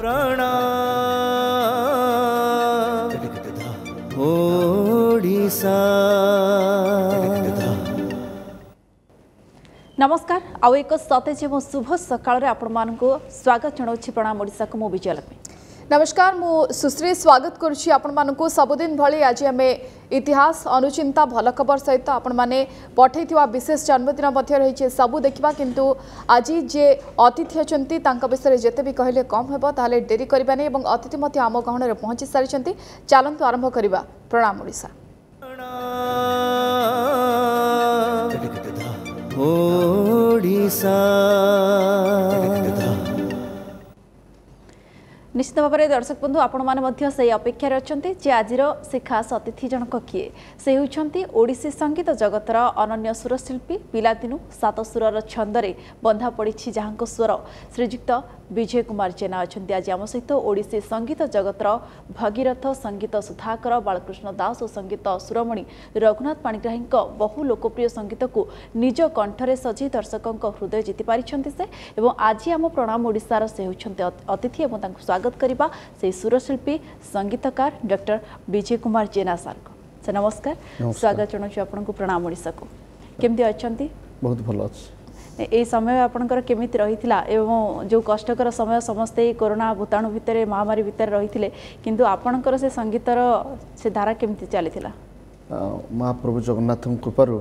ପ୍ରଣାମ ଓଡ଼ିଶା। ନମସ୍କାର, ଆଉ ଏକ ସତେଜ ଏବଂ ଶୁଭ ସକାଳରେ ଆପଣମାନଙ୍କୁ ସ୍ୱାଗତ ଜଣାଉଛି ପ୍ରଣାମ ଓଡ଼ିଶାକୁ। ମୁଁ ବିଜୟଲକ୍ଷ୍ମୀ। ନମସ୍କାର, ମୁଁ ସୁଶ୍ରୀ ସ୍ୱାଗତ କରୁଛି ଆପଣମାନଙ୍କୁ। ସବୁଦିନ ଭଳି ଆଜି ଆମେ ଇତିହାସ, ଅନୁଚିନ୍ତା, ଭଲ ଖବର ସହିତ ଆପଣମାନେ ପଠାଇଥିବା ବିଶେଷ ଜନ୍ମଦିନ ମଧ୍ୟ ରହିଛି, ସବୁ ଦେଖିବା। କିନ୍ତୁ ଆଜି ଯେ ଅତିଥି ଅଛନ୍ତି ତାଙ୍କ ବିଷୟରେ ଯେତେ ବି କହିଲେ କମ୍ ହେବ। ତାହେଲେ ଡେରି କରିବାନି ଏବଂ ଅତିଥି ମଧ୍ୟ ଆମ ଗହଣରେ ପହଞ୍ଚି ସାରିଛନ୍ତି। ଚାଲନ୍ତୁ ଆରମ୍ଭ କରିବା ପ୍ରଣାମ ଓଡ଼ିଶା। ଓଡ଼ିଶା। ନିଶ୍ଚିତ ଭାବରେ ଦର୍ଶକ ବନ୍ଧୁ, ଆପଣମାନେ ମଧ୍ୟ ସେହି ଅପେକ୍ଷାରେ ଅଛନ୍ତି ଯେ ଆଜିର ସେ ଖାସ୍ ଅତିଥି ଜଣକ କିଏ। ସେ ହେଉଛନ୍ତି ଓଡ଼ିଶୀ ସଙ୍ଗୀତ ଜଗତର ଅନନ୍ୟ ସୁରଶିଳ୍ପୀ। ପିଲାଦିନୁ ସାତ ସୁରର ଛନ୍ଦରେ ବନ୍ଧା ପଡ଼ିଛି ଯାହାଙ୍କ ସ୍ୱର, ଶ୍ରୀଯୁକ୍ତ ବିଜୟ କୁମାର ଜେନା ଅଛନ୍ତି ଆଜି ଆମ ସହିତ। ଓଡ଼ିଶୀ ସଙ୍ଗୀତ ଜଗତର ଭଗୀରଥ, ସଙ୍ଗୀତ ସୁଧାକର, ବାଳକୃଷ୍ଣ ଦାସ ଓ ସଙ୍ଗୀତ ସୁରମଣି ରଘୁନାଥ ପାଣିଗ୍ରାହୀଙ୍କ ବହୁ ଲୋକପ୍ରିୟ ସଙ୍ଗୀତକୁ ନିଜ କଣ୍ଠରେ ସଜେଇ ଦର୍ଶକଙ୍କ ହୃଦୟ ଜିତି ପାରିଛନ୍ତି ସେ, ଏବଂ ଆଜି ଆମ ପ୍ରଣାମ ଓଡ଼ିଶାର ସେ ହେଉଛନ୍ତି ଅତିଥି ଏବଂ ତାଙ୍କୁ ସ୍ୱାଗତ କରିବା ସେହି ସୁରଶିଳ୍ପୀ ସଙ୍ଗୀତକାର ଡକ୍ଟର ବିଜୟ କୁମାର ଜେନା ସାର୍ଙ୍କୁ। ସାର୍ ନମସ୍କାର, ସ୍ୱାଗତ ଜଣାଉଛୁ ଆପଣଙ୍କୁ ପ୍ରଣାମ ଓଡ଼ିଶାକୁ। କେମିତି ଅଛନ୍ତି? ବହୁତ ଭଲ ଅଛି। এই ସମୟ ଆପଣଙ୍କର କେମିତି ରହିଥିଲା ଏବଂ ଯେଉଁ କଷ୍ଟକର ସମୟ ସମସ୍ତେ ଏଇ କରୋନା ଭୂତାଣୁ ଭିତରେ, ମହାମାରୀ ଭିତରେ ରହିଥିଲେ, କିନ୍ତୁ ଆପଣଙ୍କର ସେ ସଙ୍ଗୀତର ସେ ଧାରା କେମିତି ଚାଲିଥିଲା? ମହାପ୍ରଭୁ ଜଗନ୍ନାଥଙ୍କ କୃପାରୁ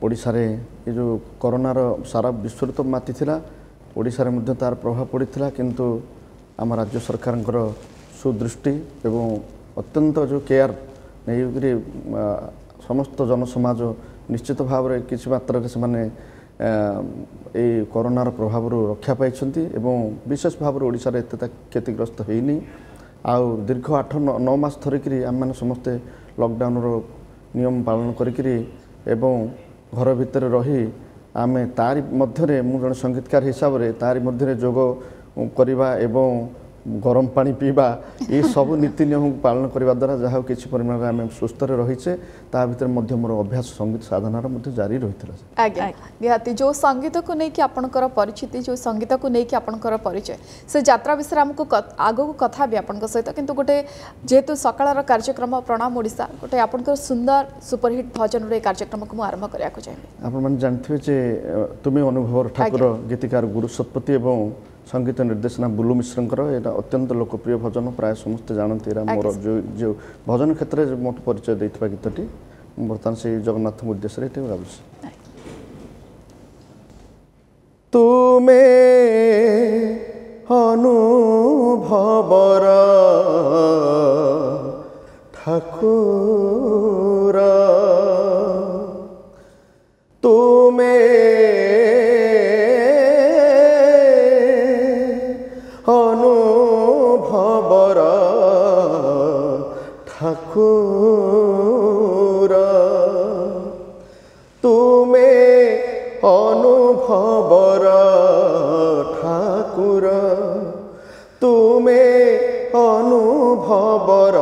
ଓଡ଼ିଶାରେ ଏ ଯେଉଁ କରୋନାର ସାରା ବିଶ୍ୱରେ ତ ମାତିଥିଲା, ଓଡ଼ିଶାରେ ମଧ୍ୟ ତାର ପ୍ରଭାବ ପଡ଼ିଥିଲା। କିନ୍ତୁ ଆମ ରାଜ୍ୟ ସରକାରଙ୍କର ସୁଦୃଷ୍ଟି ଏବଂ ଅତ୍ୟନ୍ତ ଯେଉଁ କେୟାର ନେଇକରି ସମସ୍ତ ଜନସମାଜ ନିଶ୍ଚିତ ଭାବରେ କିଛି ମାତ୍ରାରେ ସେମାନେ ଏଇ କରୋନାର ପ୍ରଭାବରୁ ରକ୍ଷା ପାଇଛନ୍ତି ଏବଂ ବିଶେଷ ଭାବରେ ଓଡ଼ିଶାରେ ଏତେ କ୍ଷତିଗ୍ରସ୍ତ ହେଇନି। ଆଉ ଦୀର୍ଘ 8 9 ମାସ ଧରିକିରି ଆମେମାନେ ସମସ୍ତେ ଲକଡାଉନର ନିୟମ ପାଳନ କରିକିରି ଏବଂ ଘର ଭିତରେ ରହି ଆମେ ତାରି ମଧ୍ୟରେ, ମୁଁ ଜଣେ ସଙ୍ଗୀତକାର ହିସାବରେ ତାରି ମଧ୍ୟରେ ଯୋଗ କରିବା ଏବଂ ଗରମ ପାଣି ପିଇବା, ଏସବୁ ନୀତି ନିୟମକୁ ପାଳନ କରିବା ଦ୍ୱାରା ଯାହା କିଛି ପରିମାଣରେ ଆମେ ସୁସ୍ଥରେ ରହିଛେ। ତା ଭିତରେ ମଧ୍ୟ ମୋର ଅଭ୍ୟାସ ସଙ୍ଗୀତ ସାଧନାର ମଧ୍ୟ ଜାରି ରହିଥିଲା। ଆଜ୍ଞା ନିହାତି, ଯେଉଁ ସଙ୍ଗୀତକୁ ନେଇକି ଆପଣଙ୍କର ପରିଚିତି, ଯେଉଁ ସଙ୍ଗୀତକୁ ନେଇକି ଆପଣଙ୍କର ପରିଚୟ, ସେ ଯାତ୍ରା ବିଷୟରେ ଆମକୁ ଆଗକୁ କଥା ହେବି ଆପଣଙ୍କ ସହିତ। କିନ୍ତୁ ଗୋଟେ ଯେହେତୁ ସକାଳର କାର୍ଯ୍ୟକ୍ରମ ପ୍ରଣାମ ଓଡ଼ିଶା, ଗୋଟେ ଆପଣଙ୍କର ସୁନ୍ଦର ସୁପରହିଟ୍ ଭଜନରୁ ଏ କାର୍ଯ୍ୟକ୍ରମକୁ ମୁଁ ଆରମ୍ଭ କରିବାକୁ ଚାହିଁବି। ଆପଣମାନେ ଜାଣିଥିବେ ଯେ ତୁମେ ଅନୁଭବର ଠାକୁର, ଗୀତିକାର ଗୁରୁ ଶତପଥୀ ଏବଂ ସଙ୍ଗୀତ ନିର୍ଦ୍ଦେଶନା ବୁଲୁ ମିଶ୍ରଙ୍କର ଏଇଟା ଅତ୍ୟନ୍ତ ଲୋକପ୍ରିୟ ଭଜନ, ପ୍ରାୟ ସମସ୍ତେ ଜାଣନ୍ତି। ଏଇଟା ମୋର ଯେଉଁ ଯେଉଁ ଭଜନ କ୍ଷେତ୍ରରେ ମୋତେ ପରିଚୟ ଦେଇଥିବା ଗୀତଟି, ମୁଁ ବର୍ତ୍ତମାନ ସେଇ ଜଗନ୍ନାଥଙ୍କ ଉଦ୍ଦେଶ୍ୟରେ ଏଠି ଗାଉଛି। ତୁମେ ଅନୁଭବର ଠାକୁର, ତୁମେ ଅନୁଭବର ଠାକୁର, ତୁମେ ଅନୁଭବର ଠାକୁର, ତୁମେ ଅନୁଭବର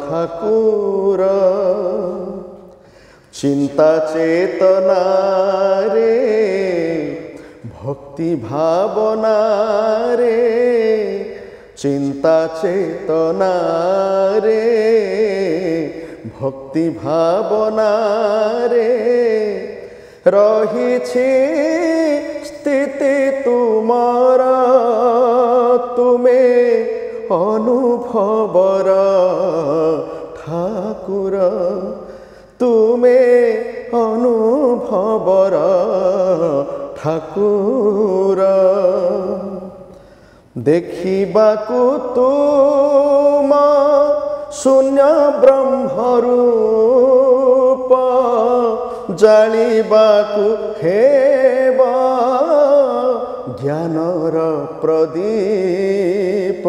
ଠାକୁର। ଚିନ୍ତା ଚେତନାରେ, ଭକ୍ତି ଭାବନାରେ, ଚିନ୍ତା ଚେତନାରେ, ଭକ୍ତି ଭାବନାରେ ରହିଛି ସ୍ଥିତି ତୁମର, ତୁମେ ଅନୁଭବର ଠାକୁର, ତୁମେ ଅନୁଭବର ଠାକୁର। ଦେଖିବାକୁ ତୁମ ଶୂନ୍ୟ ବ୍ରହ୍ମରୂପ, ଜାଳିବାକୁ ହେବ ଜ୍ଞାନର ପ୍ରଦୀପ,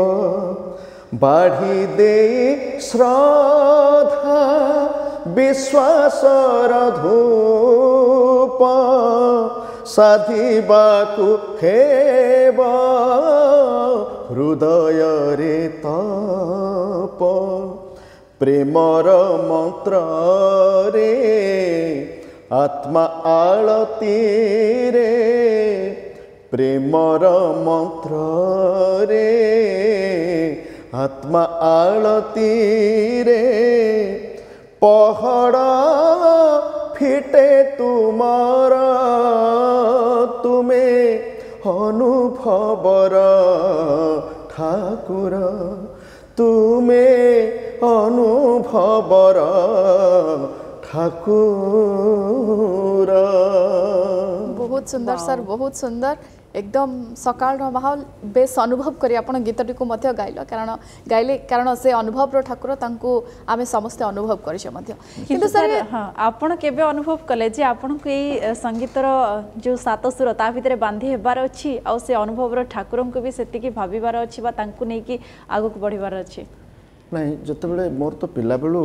ବାଢ଼ି ଦେଇ ଶ୍ରଦ୍ଧା ବିଶ୍ୱାସର ଧୂପ, ସାଧିବାକୁ ହେବ ହୃଦୟରେ ତପ। ପ୍ରେମର ମନ୍ତ୍ରରେ, ଆତ୍ମା ଆଳତୀରେ, ପ୍ରେମର ମନ୍ତ୍ରରେ ଆତ୍ମା ଆଳତୀରେ ପହଡ଼ ଫିଟେ ତୁମର ତୁମେ ଅନୁଭବର ଠାକୁର ତୁମେ ଅନୁଭବର ଠାକୁର। ବହୁତ ସୁନ୍ଦର ସାର୍, ବହୁତ ସୁନ୍ଦର। ଏକଦମ ସକାଳର ମାହୋଲ ବେଶ ଅନୁଭବ କରି ଆପଣ ଗୀତଟିକୁ ମଧ୍ୟ ଗାଇଲ, କାରଣ ଗାଇଲେ, କାରଣ ସେ ଅନୁଭବର ଠାକୁର, ତାଙ୍କୁ ଆମେ ସମସ୍ତେ ଅନୁଭବ କରିଛେ ମଧ୍ୟ। କିନ୍ତୁ ସାର୍, ହଁ, ଆପଣ କେବେ ଅନୁଭବ କଲେ ଯେ ଆପଣଙ୍କୁ ଏଇ ସଙ୍ଗୀତର ଯେଉଁ ସାତ ସୁର ତା ଭିତରେ ବାନ୍ଧି ହେବାର ଅଛି, ଆଉ ସେ ଅନୁଭବର ଠାକୁରଙ୍କୁ ବି ସେତିକି ଭାବିବାର ଅଛି ବା ତାଙ୍କୁ ନେଇକି ଆଗକୁ ବଢ଼ିବାର ଅଛି? ନାଇଁ, ଯେତେବେଳେ ମୋର ତ ପିଲାବେଳୁ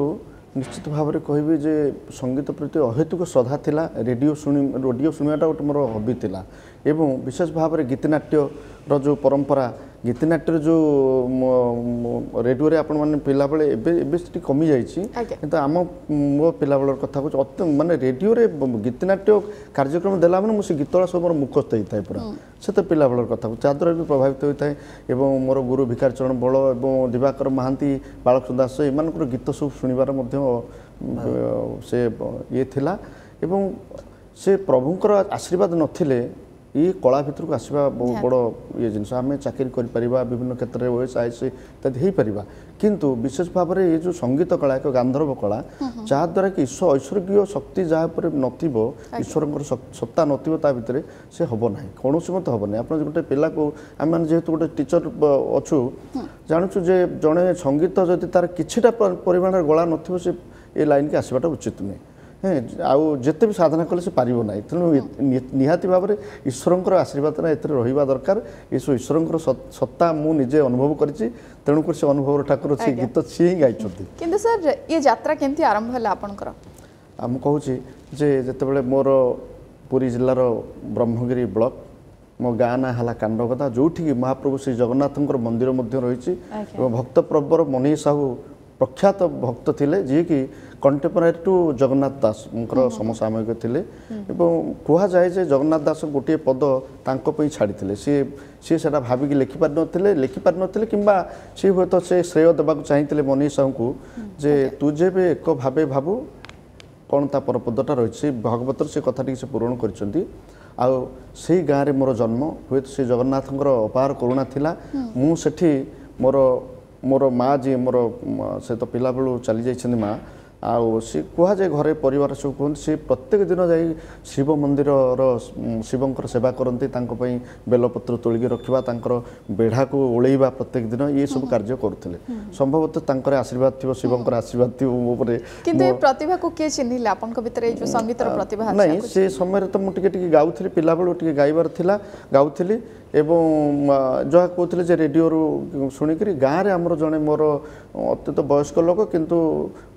ନିଶ୍ଚିତ ଭାବରେ କହିବି ଯେ ସଙ୍ଗୀତ ପ୍ରତି ଅହେତୁକ ଶ୍ରଦ୍ଧା ଥିଲା। ରେଡ଼ିଓ ଶୁଣି ରେଡ଼ିଓ ଶୁଣିବାଟା ଗୋଟେ ମୋର ହବି ଥିଲା ଏବଂ ବିଶେଷ ଭାବରେ ଗୀତିନାଟ୍ୟର ଯେଉଁ ପରମ୍ପରା, ଗୀତିନାଟ୍ୟର ଯେଉଁ ରେଡ଼ିଓରେ ଆପଣମାନେ ପିଲାବେଳେ, ଏବେ ଏବେ ସେଠି କମିଯାଇଛି, କିନ୍ତୁ ଆମ ମୋ ପିଲାବେଳର କଥା କହୁଛି, ଅତି ମାନେ ରେଡ଼ିଓରେ ଗୀତିନାଟ୍ୟ କାର୍ଯ୍ୟକ୍ରମ ଦେଲା ମାନେ ମୁଁ ସେ ଗୀତଗୁଡ଼ା ସବୁ ମୋର ମୁଖସ୍ଥ ହେଇଥାଏ ପୁରା। ସେ ତ ପିଲାବେଳର କଥା କହୁଛି, ଯାହାଦ୍ୱାରା ବି ପ୍ରଭାବିତ ହୋଇଥାଏ। ଏବଂ ମୋର ଗୁରୁ ଭିକାରୀ ଚରଣ ବଳ ଏବଂ ଦିବାକର ମହାନ୍ତି, ବାଳକୃଷ୍ଣ ଦାସ, ଏମାନଙ୍କର ଗୀତ ସବୁ ଶୁଣିବାର ମଧ୍ୟ ସେ ଇଏ ଥିଲା। ଏବଂ ସେ ପ୍ରଭୁଙ୍କର ଆଶୀର୍ବାଦ ନଥିଲେ ଇଏ କଳା ଭିତରକୁ ଆସିବା ବହୁତ ବଡ଼ ଇଏ ଜିନିଷ। ଆମେ ଚାକିରି କରିପାରିବା ବିଭିନ୍ନ କ୍ଷେତ୍ରରେ, ଓଏସ୍, is ଇତ୍ୟାଦି ହେଇପାରିବା, କିନ୍ତୁ ବିଶେଷ ଭାବରେ ଏ ଯେଉଁ ସଙ୍ଗୀତ କଳା ଏକ ଗାନ୍ଧର୍ବ କଳା, ଯାହାଦ୍ୱାରା କି ଐଶ୍ୱରୀୟ ଶକ୍ତି ଯାହା ଉପରେ ନଥିବ, ଈଶ୍ୱରଙ୍କର ସତ୍ତା ନଥିବ ତା ଭିତରେ, ସେ ହେବ ନାହିଁ, କୌଣସି ମତେ ହେବ ନାହିଁ। ଆପଣ ଗୋଟେ ପିଲାକୁ, ଆମେମାନେ ଯେହେତୁ ଗୋଟେ ଟିଚର ଅଛୁ, ଜାଣୁଛୁ ଯେ ଜଣେ ସଙ୍ଗୀତ ଯଦି ତାର କିଛିଟା ପରିମାଣରେ ଗଳା ନଥିବ, ସେ ଏ ଲାଇନ୍କି ଆସିବାଟା ଉଚିତ ନୁହେଁ। ହଁ, ଆଉ ଯେତେ ବି ସାଧନା କଲେ ସେ ପାରିବ ନାହିଁ। ତେଣୁ ନିହାତି ଭାବରେ ଈଶ୍ୱରଙ୍କର ଆଶୀର୍ବାଦ ଏଥିରେ ରହିବା ଦରକାର। ଏସବୁ ଈଶ୍ୱରଙ୍କର ସତ୍ତା ମୁଁ ନିଜେ ଅନୁଭବ କରିଛି, ତେଣୁକରି ସେ ଅନୁଭବର ଠାକୁର, ସେ ଗୀତ ସିଏ ହିଁ ଗାଇଛନ୍ତି। କିନ୍ତୁ ସାର୍, ଇଏ ଯାତ୍ରା କେମିତି ଆରମ୍ଭ ହେଲା ଆପଣଙ୍କର? ଆଉ ମୁଁ କହୁଛି ଯେ ଯେତେବେଳେ ମୋର ପୁରୀ ଜିଲ୍ଲାର ବ୍ରହ୍ମଗିରି ବ୍ଲକ, ମୋ ଗାଁ ନାଁ ହେଲା କାଣ୍ଡଗଦା, ଯେଉଁଠିକି ମହାପ୍ରଭୁ ଶ୍ରୀ ଜଗନ୍ନାଥଙ୍କର ମନ୍ଦିର ମଧ୍ୟ ରହିଛି ଏବଂ ଭକ୍ତ ପ୍ରବର ମନୀଷ ସାହୁ ପ୍ରଖ୍ୟାତ ଭକ୍ତ ଥିଲେ, ଯିଏକି କଣ୍ଟେମ୍ପୋରାରୀ ଟୁ ଜଗନ୍ନାଥ ଦାସଙ୍କର ସମସାମୟିକ ଥିଲେ। ଏବଂ କୁହାଯାଏ ଯେ ଜଗନ୍ନାଥ ଦାସ ଗୋଟିଏ ପଦ ତାଙ୍କ ପାଇଁ ଛାଡ଼ିଥିଲେ। ସିଏ ସେଇଟା ଭାବିକି ଲେଖିପାରିନଥିଲେ କିମ୍ବା ସିଏ ହୁଏତ ସେ ଶ୍ରେୟ ଦେବାକୁ ଚାହିଁଥିଲେ ମନୀଷ ସାହୁଙ୍କୁ ଯେ ତୁ ଯେବେ ଏକ ଭାବେ ଭାବୁ, କ'ଣ ତା ପରପଦଟା ରହିଛି ଭଗବତର, ସେ କଥାଟିକି ସେ ପୂରଣ କରିଛନ୍ତି। ଆଉ ସେଇ ଗାଁରେ ମୋର ଜନ୍ମ। ହୁଏତ ସେ ଜଗନ୍ନାଥଙ୍କର ଅପାର କରୁଣା ଥିଲା। ମୁଁ ସେଠି ମୋର ମା ଯିଏ ମୋର, ସେ ତ ପିଲାବେଳୁ ଚାଲି ଯାଇଛନ୍ତି ମା। ଆଉ ସେ କୁହାଯାଏ, ଘରେ ପରିବାର ସବୁ କୁହନ୍ତି, ସେ ପ୍ରତ୍ୟେକ ଦିନ ଯାଇ ଶିବ ମନ୍ଦିରର ଶିବଙ୍କର ସେବା କରନ୍ତି, ତାଙ୍କ ପାଇଁ ବେଲପତ୍ର ତୋଳିକି ରଖିବା, ତାଙ୍କର ବେଢ଼ାକୁ ଓଳେଇବା, ପ୍ରତ୍ୟେକ ଦିନ ଇଏ ସବୁ କାର୍ଯ୍ୟ କରୁଥିଲେ। ସମ୍ଭବତଃ ତାଙ୍କର ଆଶୀର୍ବାଦ ଥିବ, ଶିବଙ୍କର ଆଶୀର୍ବାଦ ଥିବ ମୋ ଉପରେ। କିନ୍ତୁ ଏ ପ୍ରତିଭାକୁ କିଏ ଚିହ୍ନିଲେ ଆପଣଙ୍କ ଭିତରେ, ଏଇ ଯୋଉ ସଙ୍ଗୀତର ପ୍ରତିଭା? ନାଇଁ, ସେ ସମୟରେ ତ ମୁଁ ଟିକେ ଟିକେ ଗାଉଥିଲି, ପିଲାବେଳୁ ଟିକେ ଗାଇବାର ଥିଲା, ଗାଉଥିଲି। ଏବଂ ଯାହା କହୁଥିଲେ ଯେ ରେଡ଼ିଓରୁ ଶୁଣିକରି ଗାଁରେ ଆମର ଜଣେ ମୋର ଅତ୍ୟନ୍ତ ବୟସ୍କ ଲୋକ, କିନ୍ତୁ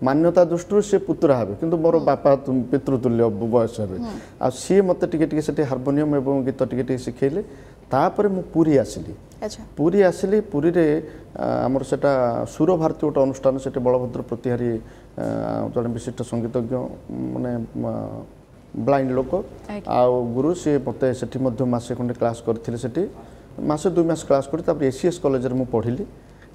ମାନ୍ୟତା ଦୃଷ୍ଟିରୁ ସେ ପୁତୁରା ହେବେ, କିନ୍ତୁ ମୋର ବାପା ପିତୃତୁଲ୍ୟ ବୟସ ହେବେ, ଆଉ ସିଏ ମୋତେ ଟିକେ ଟିକେ ସେଠି ହାରମୋନିୟମ ଏବଂ ଗୀତ ଟିକେ ଟିକେ ଶିଖେଇଲେ। ତାପରେ ମୁଁ ପୁରୀ ଆସିଲି। ପୁରୀ ଆସିଲି, ପୁରୀରେ ଆମର ସେଟା ସୁରଭାରତୀ ଗୋଟେ ଅନୁଷ୍ଠାନ, ସେଠି ବଳଭଦ୍ର ପ୍ରତିହାରୀ ଜଣେ ବିଶିଷ୍ଟ ସଙ୍ଗୀତଜ୍ଞ, ମାନେ ବ୍ଲାଇଣ୍ଡ ଲୋକ ଆଉ ଗୁରୁ, ସିଏ ମୋତେ ସେଠି ମଧ୍ୟ ମାସେ ଖଣ୍ଡେ କ୍ଲାସ୍ କରିଥିଲେ। ସେଠି ମାସେ 2 ମାସ କ୍ଲାସ୍ କରି ତାପରେ ଏସିଏସ୍ କଲେଜରେ ମୁଁ ପଢ଼ିଲି।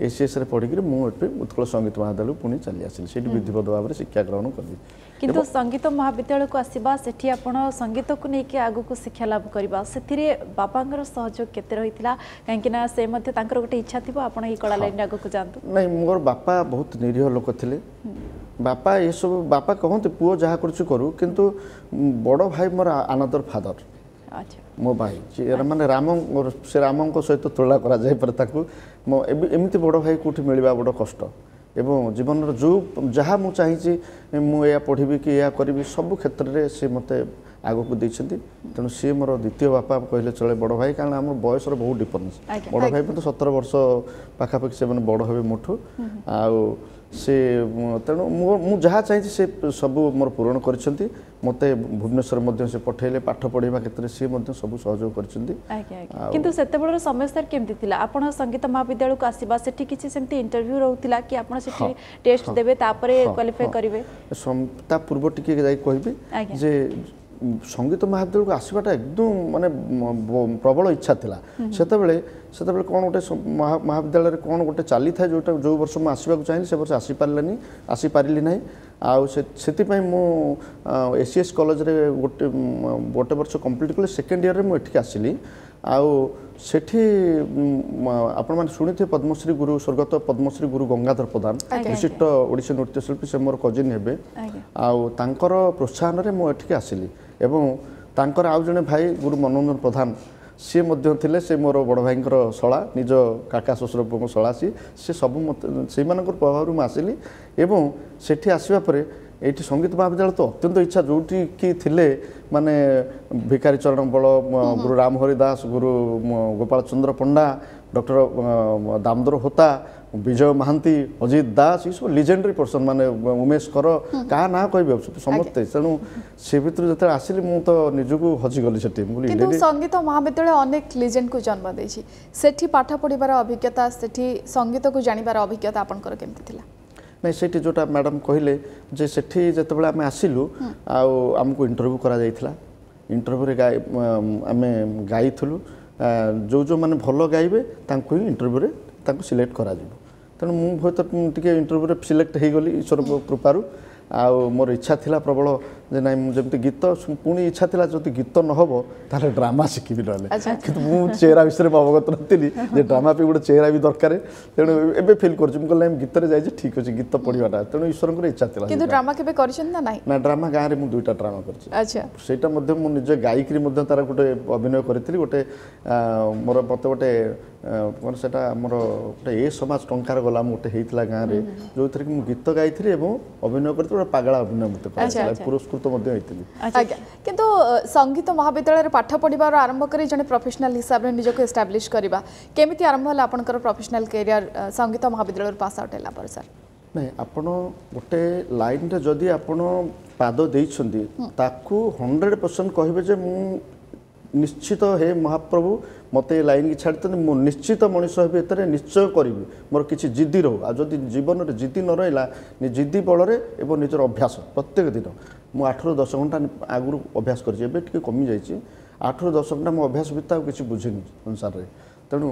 ଏସିଏସ୍ରେ ପଢ଼ିକିରି ମୁଁ ଏଠି ଉତ୍କଳ ସଙ୍ଗୀତ ମହାବିଦ୍ୟାଳୟକୁ ପୁଣି ଚାଲି ଆସିଲି। ସେଇଠି ବିଧିବଦ୍ଧ ଭାବରେ ଶିକ୍ଷା ଗ୍ରହଣ କଲି। କିନ୍ତୁ ସଙ୍ଗୀତ ମହାବିଦ୍ୟାଳୟକୁ ଆସିବା, ସେଠି ଆପଣ ସଙ୍ଗୀତକୁ ନେଇକି ଆଗକୁ ଶିକ୍ଷା ଲାଭ କରିବା, ସେଥିରେ ବାପାଙ୍କର ସହଯୋଗ କେତେ ରହିଥିଲା? କାହିଁକି ନା ସେ ମଧ୍ୟ ତାଙ୍କର ଗୋଟେ ଇଚ୍ଛା ଥିବ ଆପଣ ଏଇ କଳା ଲାଇନରେ ଆଗକୁ ଯାଆନ୍ତୁ। ନାଇଁ, ମୋର ବାପା ବହୁତ ନିରୀହ ଲୋକ ଥିଲେ। ବାପା ଏସବୁ, ବାପା କହନ୍ତି ପୁଅ ଯାହା କରୁଛି କରୁ, କିନ୍ତୁ ବଡ଼ ଭାଇ ମୋର ଆନଦର ଫାଦର। ମୋ ଭାଇ ମାନେ ରାମ, ସେ ରାମଙ୍କ ସହିତ ତୁଳନା କରାଯାଇପାରେ ତାକୁ। ମୋ ଏବେ ଏମିତି ବଡ଼ ଭାଇ କେଉଁଠି ମିଳିବା ବଡ଼ କଷ୍ଟ। ଏବଂ ଜୀବନର ଯେଉଁ ଯାହା ମୁଁ ଚାହିଁଛି, ମୁଁ ଏହା ପଢ଼ିବି କି ଏହା କରିବି, ସବୁ କ୍ଷେତ୍ରରେ ସେ ମୋତେ ଆଗକୁ ଦେଇଛନ୍ତି। ତେଣୁ ସିଏ ମୋର ଦ୍ୱିତୀୟ ବାପା କହିଲେ ଚଳେ, ବଡ଼ ଭାଇ, କାରଣ ଆମର ବୟସର ବହୁତ ଡିଫରେନ୍ସ। ବଡ଼ ଭାଇ ମୋତେ 17 ବର୍ଷ ପାଖାପାଖି ସେମାନେ ବଡ଼ ହେବେ ମୋଠୁ। ଆଉ ସେ ତେଣୁ ମୁଁ ଯାହା ଚାହିଁଛି ସେ ସବୁ ମୋର ପୂରଣ କରିଛନ୍ତି। ମୋତେ ଭୁବନେଶ୍ୱର ମଧ୍ୟ ସେ ପଠେଇଲେ ପାଠ ପଢ଼ିବା କ୍ଷେତ୍ରରେ, ସିଏ ମଧ୍ୟ ସବୁ ସହଯୋଗ କରିଛନ୍ତି। କିନ୍ତୁ ସେତେବେଳର ସମୟ ସାର୍ କେମିତି ଥିଲା? ଆପଣ ସଙ୍ଗୀତ ମହାବିଦ୍ୟାଳୟକୁ ଆସିବା, ସେଠି କିଛି ସେମିତି ଇଣ୍ଟରଭ୍ୟୁ ରହୁଥିଲା କି ଆପଣ ସେଠି ଟେଷ୍ଟ ଦେବେ, ତାପରେ କ୍ୱାଲିଫାଏ କରିବେ? ତା ପୂର୍ବ ଟିକେ ଯାଇ କହିବି ଯେ ସଙ୍ଗୀତ ମହାବିଦ୍ୟାଳୟକୁ ଆସିବାଟା ଏକଦମ ମାନେ ପ୍ରବଳ ଇଚ୍ଛା ଥିଲା। ସେତେବେଳେ ସେତେବେଳେ କ'ଣ ଗୋଟେ ମହାବିଦ୍ୟାଳୟରେ କ'ଣ ଗୋଟେ ଚାଲିଥାଏ, ଯେଉଁଟା ଯେଉଁ ବର୍ଷ ମୁଁ ଆସିବାକୁ ଚାହିଁଲି ସେ ବର୍ଷ ଆସିପାରିଲାନି, ଆସିପାରିଲି ନାହିଁ। ଆଉ ସେ ସେଥିପାଇଁ ମୁଁ ଏସିଏସ୍ କଲେଜରେ ଗୋଟେ ଗୋଟେ ବର୍ଷ କମ୍ପ୍ଲିଟ୍ କଲି। ସେକେଣ୍ଡ ଇୟର୍ରେ ମୁଁ ଏଠିକି ଆସିଲି। ଆଉ ସେଠି ଆପଣମାନେ ଶୁଣିଥିବେ ପଦ୍ମଶ୍ରୀ ଗୁରୁ, ସ୍ୱର୍ଗତ ପଦ୍ମଶ୍ରୀ ଗୁରୁ ଗଙ୍ଗାଧର ପ୍ରଧାନ, ବିଶିଷ୍ଟ ଓଡ଼ିଶୀ ନୃତ୍ୟଶିଳ୍ପୀ, ସେ ମୋର କଜିନ୍ ହେବେ। ଆଉ ତାଙ୍କର ପ୍ରୋତ୍ସାହନରେ ମୁଁ ଏଠିକି ଆସିଲି ଏବଂ ତାଙ୍କର ଆଉ ଜଣେ ଭାଇ ଗୁରୁ ମନୋରଞ୍ଜନ ପ୍ରଧାନ, ସିଏ ମଧ୍ୟ ଥିଲେ। ସେ ମୋର ବଡ଼ ଭାଇଙ୍କର ଶଳା, ନିଜ କାକା ଶ୍ୱଶୁର ପୁଅଙ୍କ ଶଳା ସିଏ। ସେ ସବୁ ମୋତେ ସେଇମାନଙ୍କର ପ୍ରଭାବରୁ ମୁଁ ଆସିଲି। ଏବଂ ସେଠି ଆସିବା ପରେ ଏଇଠି ସଙ୍ଗୀତ ମହାବିଦ୍ୟାଳୟ ତ ଅତ୍ୟନ୍ତ ଇଚ୍ଛା, ଯେଉଁଠି କି ଥିଲେ ମାନେ ଭିକାରୀ ଚରଣ ବଳ, ଗୁରୁ ରାମହରି ଦାସ, ଗୁରୁ ଗୋପାଳ ଚନ୍ଦ୍ର ପଣ୍ଡା, ଡକ୍ଟର ଦାମୋଦର ହୋତା, ବିଜୟ ମହାନ୍ତି, ଅଜିତ ଦାସ, ଏସବୁ ଲିଜେଣ୍ଡାରୀ ପର୍ସନ୍, ମାନେ ଉମେଶ କର, କାହା ନାଁ କହିବେ, ସମସ୍ତେ। ତେଣୁ ସେ ଭିତରୁ ଯେତେବେଳେ ଆସିଲି ମୁଁ ତ ନିଜକୁ ହଜିଗଲି ସେଠି। ମୁଁ କିନ୍ତୁ ସଙ୍ଗୀତ ମହାବିଦ୍ୟାଳୟ ଅନେକ ଲିଜେଣ୍ଡକୁ ଜନ୍ମ ଦେଇଛି। ସେଠି ପାଠ ପଢ଼ିବାର ଅଭିଜ୍ଞତା, ସେଠି ସଙ୍ଗୀତକୁ ଜାଣିବାର ଅଭିଜ୍ଞତା ଆପଣଙ୍କର କେମିତି ଥିଲା? ନାଇଁ, ସେଇଠି ଯେଉଁଟା ମ୍ୟାଡ଼ାମ୍ କହିଲେ ଯେ ସେଠି ଯେତେବେଳେ ଆମେ ଆସିଲୁ ଆଉ ଆମକୁ ଇଣ୍ଟରଭ୍ୟୁ କରାଯାଇଥିଲା। ଇଣ୍ଟରଭ୍ୟୁରେ ଗାଇ ଆମେ ଗାଇଥିଲୁ। ଯେଉଁ ଯେଉଁମାନେ ଭଲ ଗାଇବେ ତାଙ୍କୁ ହିଁ ଇଣ୍ଟରଭ୍ୟୁରେ ତାଙ୍କୁ ସିଲେକ୍ଟ କରାଯିବ। ତେଣୁ ମୁଁ ହୁଏତ ଟିକେ ଇଣ୍ଟରଭ୍ୟୁରେ ସିଲେକ୍ଟ ହେଇଗଲି ଈଶ୍ୱରଙ୍କ କୃପାରୁ। ଆଉ ମୋର ଇଚ୍ଛା ଥିଲା ପ୍ରବଳ ଯେ ନାଇଁ, ମୁଁ ଯେମିତି ଗୀତ, ପୁଣି ଇଚ୍ଛା ଥିଲା ଯଦି ଗୀତ ନ ହେବ ତାହେଲେ ଡ୍ରାମା ଶିଖିବି ନହେଲେ। କିନ୍ତୁ ମୁଁ ଚେହେରା ବିଷୟରେ ମୁଁ ଅବଗତ ନଥିଲି ଯେ ଡ୍ରାମା ପାଇଁ ଗୋଟେ ଚେହେରା ବି ଦରକାର। ତେଣୁ ଏବେ ଫିଲ୍ କରୁଛି, ମୁଁ କହିଲି ନାଇଁ, ଗୀତରେ ଯାଇଛି, ଠିକ୍ ଅଛି ଗୀତ ପଢ଼ିବାଟା। ତେଣୁ ଈଶ୍ୱରଙ୍କର ଇଚ୍ଛା ଥିଲା। କିନ୍ତୁ ଡ୍ରାମା କେବେ କରିଛନ୍ତି ନା ନାହିଁ? ନା, ଡ୍ରାମା ଗାଁରେ ମୁଁ 2ଟା ଡ୍ରାମା କରିଛି। ସେଇଟା ମଧ୍ୟ ମୁଁ ନିଜେ ଗାଇକିରି ମଧ୍ୟ ତାର ଗୋଟେ ଅଭିନୟ କରିଥିଲି। ଗୋଟେ ମୋର ମୋତେ ଗୋଟେ କ'ଣ ସେଇଟା ଆମର ଗୋଟେ ଏ ସମାଜ ଟଙ୍କାର ଗୋଲାମ ଗୋଟେ ହେଇଥିଲା ଗାଁରେ, ଯେଉଁଥିରେ କି ମୁଁ ଗୀତ ଗାଇଥିଲି ଏବଂ ଅଭିନୟ କରିଥିଲି। ଗୋଟେ ପାଗଳା ଅଭିନୟ ମୋତେ କରାଯାଇଥିଲା, ପୁରସ୍କୃତ ମଧ୍ୟ ହେଇଥିଲି। ଆଜ୍ଞା, କିନ୍ତୁ ସଙ୍ଗୀତ ମହାବିଦ୍ୟାଳୟରେ ପାଠ ପଢ଼ିବାର ଆରମ୍ଭ କରି ଜଣେ ପ୍ରଫେସନାଲ ହିସାବରେ ନିଜକୁ ଏଷ୍ଟାବ୍ଲିଶ କରିବା, କେମିତି ଆରମ୍ଭ ହେଲା ଆପଣଙ୍କର ପ୍ରଫେସନାଲ କ୍ୟାରିୟର ସଙ୍ଗୀତ ମହାବିଦ୍ୟାଳୟରୁ ପାସ୍ ଆଉଟ୍ ହେଲା ପରେ ସାର୍? ନାଇଁ, ଆପଣ ଗୋଟେ ଲାଇନ୍ରେ ଯଦି ଆପଣ ପାଦ ଦେଇଛନ୍ତି ତାକୁ 100% କହିବେ ଯେ ମୁଁ ନିଶ୍ଚିତ, ହେ ମହାପ୍ରଭୁ ମୋତେ ଏ ଲାଇନ୍କି ଛାଡ଼ିଛନ୍ତି, ମୁଁ ନିଶ୍ଚିତ ମଣିଷ ହେବି, ଏଥିରେ ନିଶ୍ଚୟ କରିବି, ମୋର କିଛି ଜିଦ୍ଦି ରହୁ। ଆଉ ଯଦି ଜୀବନରେ ଜିଦ୍ଦି ନ ରହିଲା, ଜିଦ୍ଦି ବଳରେ ଏବଂ ନିଜର ଅଭ୍ୟାସ ପ୍ରତ୍ୟେକ ଦିନ, ମୁଁ 8ରୁ 10 ଘଣ୍ଟା ଆଗରୁ ଅଭ୍ୟାସ କରିଛି, ଏବେ ଟିକେ କମିଯାଇଛି। 8ରୁ 10 ଘଣ୍ଟା ମୁଁ ଅଭ୍ୟାସ ଭିତରେ ଆଉ କିଛି ବୁଝିନି ସଂସାରରେ। ତେଣୁ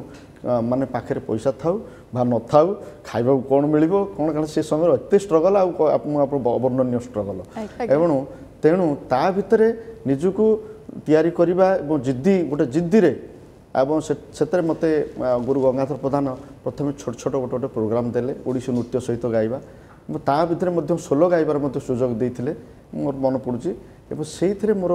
ମାନେ ପାଖରେ ପଇସା ଥାଉ ବା ନଥାଉ, ଖାଇବାକୁ କ'ଣ ମିଳିବ କ'ଣ, କାରଣ ସେ ସମୟରେ ଏତେ ଷ୍ଟ୍ରଗଲ୍, ଆଉ ଆପଣ ଅବର୍ଣ୍ଣନୀୟ ଷ୍ଟ୍ରଗଲ୍। ଏବଂ ତେଣୁ ତା ଭିତରେ ନିଜକୁ ତିଆରି କରିବା ଏବଂ ଜିଦ୍ଦି, ଗୋଟେ ଜିଦ୍ଦିରେ, ଏବଂ ସେଥିରେ ମୋତେ ଗୁରୁ ଗଙ୍ଗାଧର ପ୍ରଧାନ ପ୍ରଥମେ ଛୋଟ ଛୋଟ ଗୋଟେ ଗୋଟେ ପ୍ରୋଗ୍ରାମ୍ ଦେଲେ, ଓଡ଼ିଶୀ ନୃତ୍ୟ ସହିତ ଗାଇବା, ଏବଂ ତା ଭିତରେ ମଧ୍ୟ ସୋଲୋ ଗାଇବାର ମଧ୍ୟ ସୁଯୋଗ ଦେଇଥିଲେ, ମୋର ମନେ ପଡ଼ୁଛି। ଏବଂ ସେଇଥିରେ ମୋର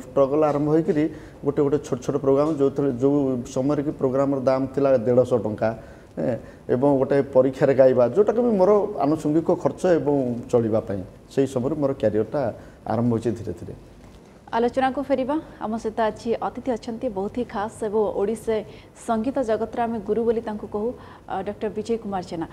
ଷ୍ଟ୍ରଗଲ୍ ଆରମ୍ଭ ହୋଇକରି ଗୋଟେ ଗୋଟେ ଛୋଟ ଛୋଟ ପ୍ରୋଗ୍ରାମ୍, ଯେଉଁଥିରେ ଯେଉଁ ସମୟରେ କି ପ୍ରୋଗ୍ରାମର ଦାମ ଥିଲା 150 ଟଙ୍କା, ଏବଂ ଗୋଟେ ପରୀକ୍ଷାରେ ଗାଇବା, ଯେଉଁଟାକି ବି ମୋର ଆନୁଷଙ୍ଗିକ ଖର୍ଚ୍ଚ ଏବଂ ଚଳିବା ପାଇଁ, ସେଇ ସମୟରେ ମୋର କ୍ୟାରିୟରଟା ଆରମ୍ଭ ହୋଇଛି ଧୀରେ ଧୀରେ। ଆଲୋଚନାକୁ ଫେରିବା। ଆମ ସହିତ ଆଜି ଅତିଥି ଅଛନ୍ତି ବହୁତ ହି ଖାସ୍ ଏବଂ ଓଡ଼ିଶା ସଙ୍ଗୀତ ଜଗତର ଆମେ ଗୁରୁ ବୋଲି ତାଙ୍କୁ କହୁ, ଡକ୍ଟର ବିଜୟ କୁମାର ଜେନା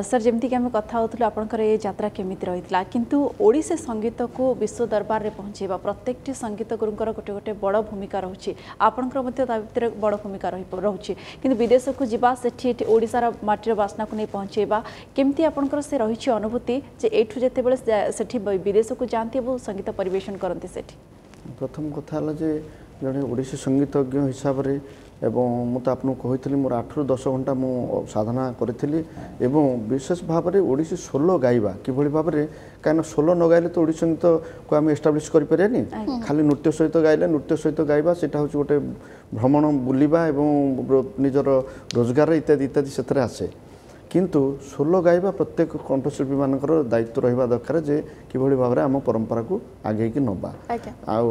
ସାର୍। ଯେମିତିକି ଆମେ କଥା ହେଉଥିଲୁ ଆପଣଙ୍କର ଏ ଯାତ୍ରା କେମିତି ରହିଥିଲା, କିନ୍ତୁ ଓଡ଼ିଶା ସଙ୍ଗୀତକୁ ବିଶ୍ୱ ଦରବାରରେ ପହଞ୍ଚାଇବା ପ୍ରତ୍ୟେକଟି ସଙ୍ଗୀତ ଗୁରୁଙ୍କର ଗୋଟେ ଗୋଟେ ବଡ଼ ଭୂମିକା ରହୁଛି, ଆପଣଙ୍କର ମଧ୍ୟ ତା ଭିତରେ ବଡ଼ ଭୂମିକା ରହୁଛି। କିନ୍ତୁ ବିଦେଶକୁ ଯିବା, ସେଠି ଏଠି ଓଡ଼ିଶାର ମାଟିର ବାସ୍ନାକୁ ନେଇ ପହଞ୍ଚାଇବା, କେମିତି ଆପଣଙ୍କର ସେ ରହିଛି ଅନୁଭୂତି ଯେ ଏଇଠୁ ଯେତେବେଳେ ସେଠି ବିଦେଶକୁ ଯାଆନ୍ତି ଏବଂ ସଙ୍ଗୀତ ପରିବେଷଣ କରନ୍ତି ସେଠି? ପ୍ରଥମ କଥା ହେଲା ଯେ ଜଣେ ଓଡ଼ିଶୀ ସଙ୍ଗୀତଜ୍ଞ ହିସାବରେ, ଏବଂ ମୁଁ ତ ଆପଣଙ୍କୁ କହିଥିଲି ମୋର 8ରୁ 10 ଘଣ୍ଟା ମୁଁ ସାଧନା କରିଥିଲି, ଏବଂ ବିଶେଷ ଭାବରେ ଓଡ଼ିଶୀ ସୋଲୋ ଗାଇବା କିଭଳି ଭାବରେ, କାହିଁକିନା ସୋଲୋ ନ ଗାଇଲେ ତ ଓଡ଼ିଶୀ ସଙ୍ଗୀତକୁ ଆମେ ଏଷ୍ଟାବ୍ଲିଶ୍ କରିପାରିବାନି। ଖାଲି ନୃତ୍ୟ ସହିତ ଗାଇଲେ, ନୃତ୍ୟ ସହିତ ଗାଇବା ସେଇଟା ହେଉଛି ଗୋଟେ ଭ୍ରମଣ, ବୁଲିବା ଏବଂ ନିଜର ରୋଜଗାର ଇତ୍ୟାଦି ଇତ୍ୟାଦି ସେଥିରେ ଆସେ। କିନ୍ତୁ ସୋଲୋ ଗାଇବା ପ୍ରତ୍ୟେକ କଣ୍ଠଶିଳ୍ପୀମାନଙ୍କର ଦାୟିତ୍ୱ ରହିବା ଦରକାର ଯେ କିଭଳି ଭାବରେ ଆମ ପରମ୍ପରାକୁ ଆଗେଇକି ନେବା। ଆଉ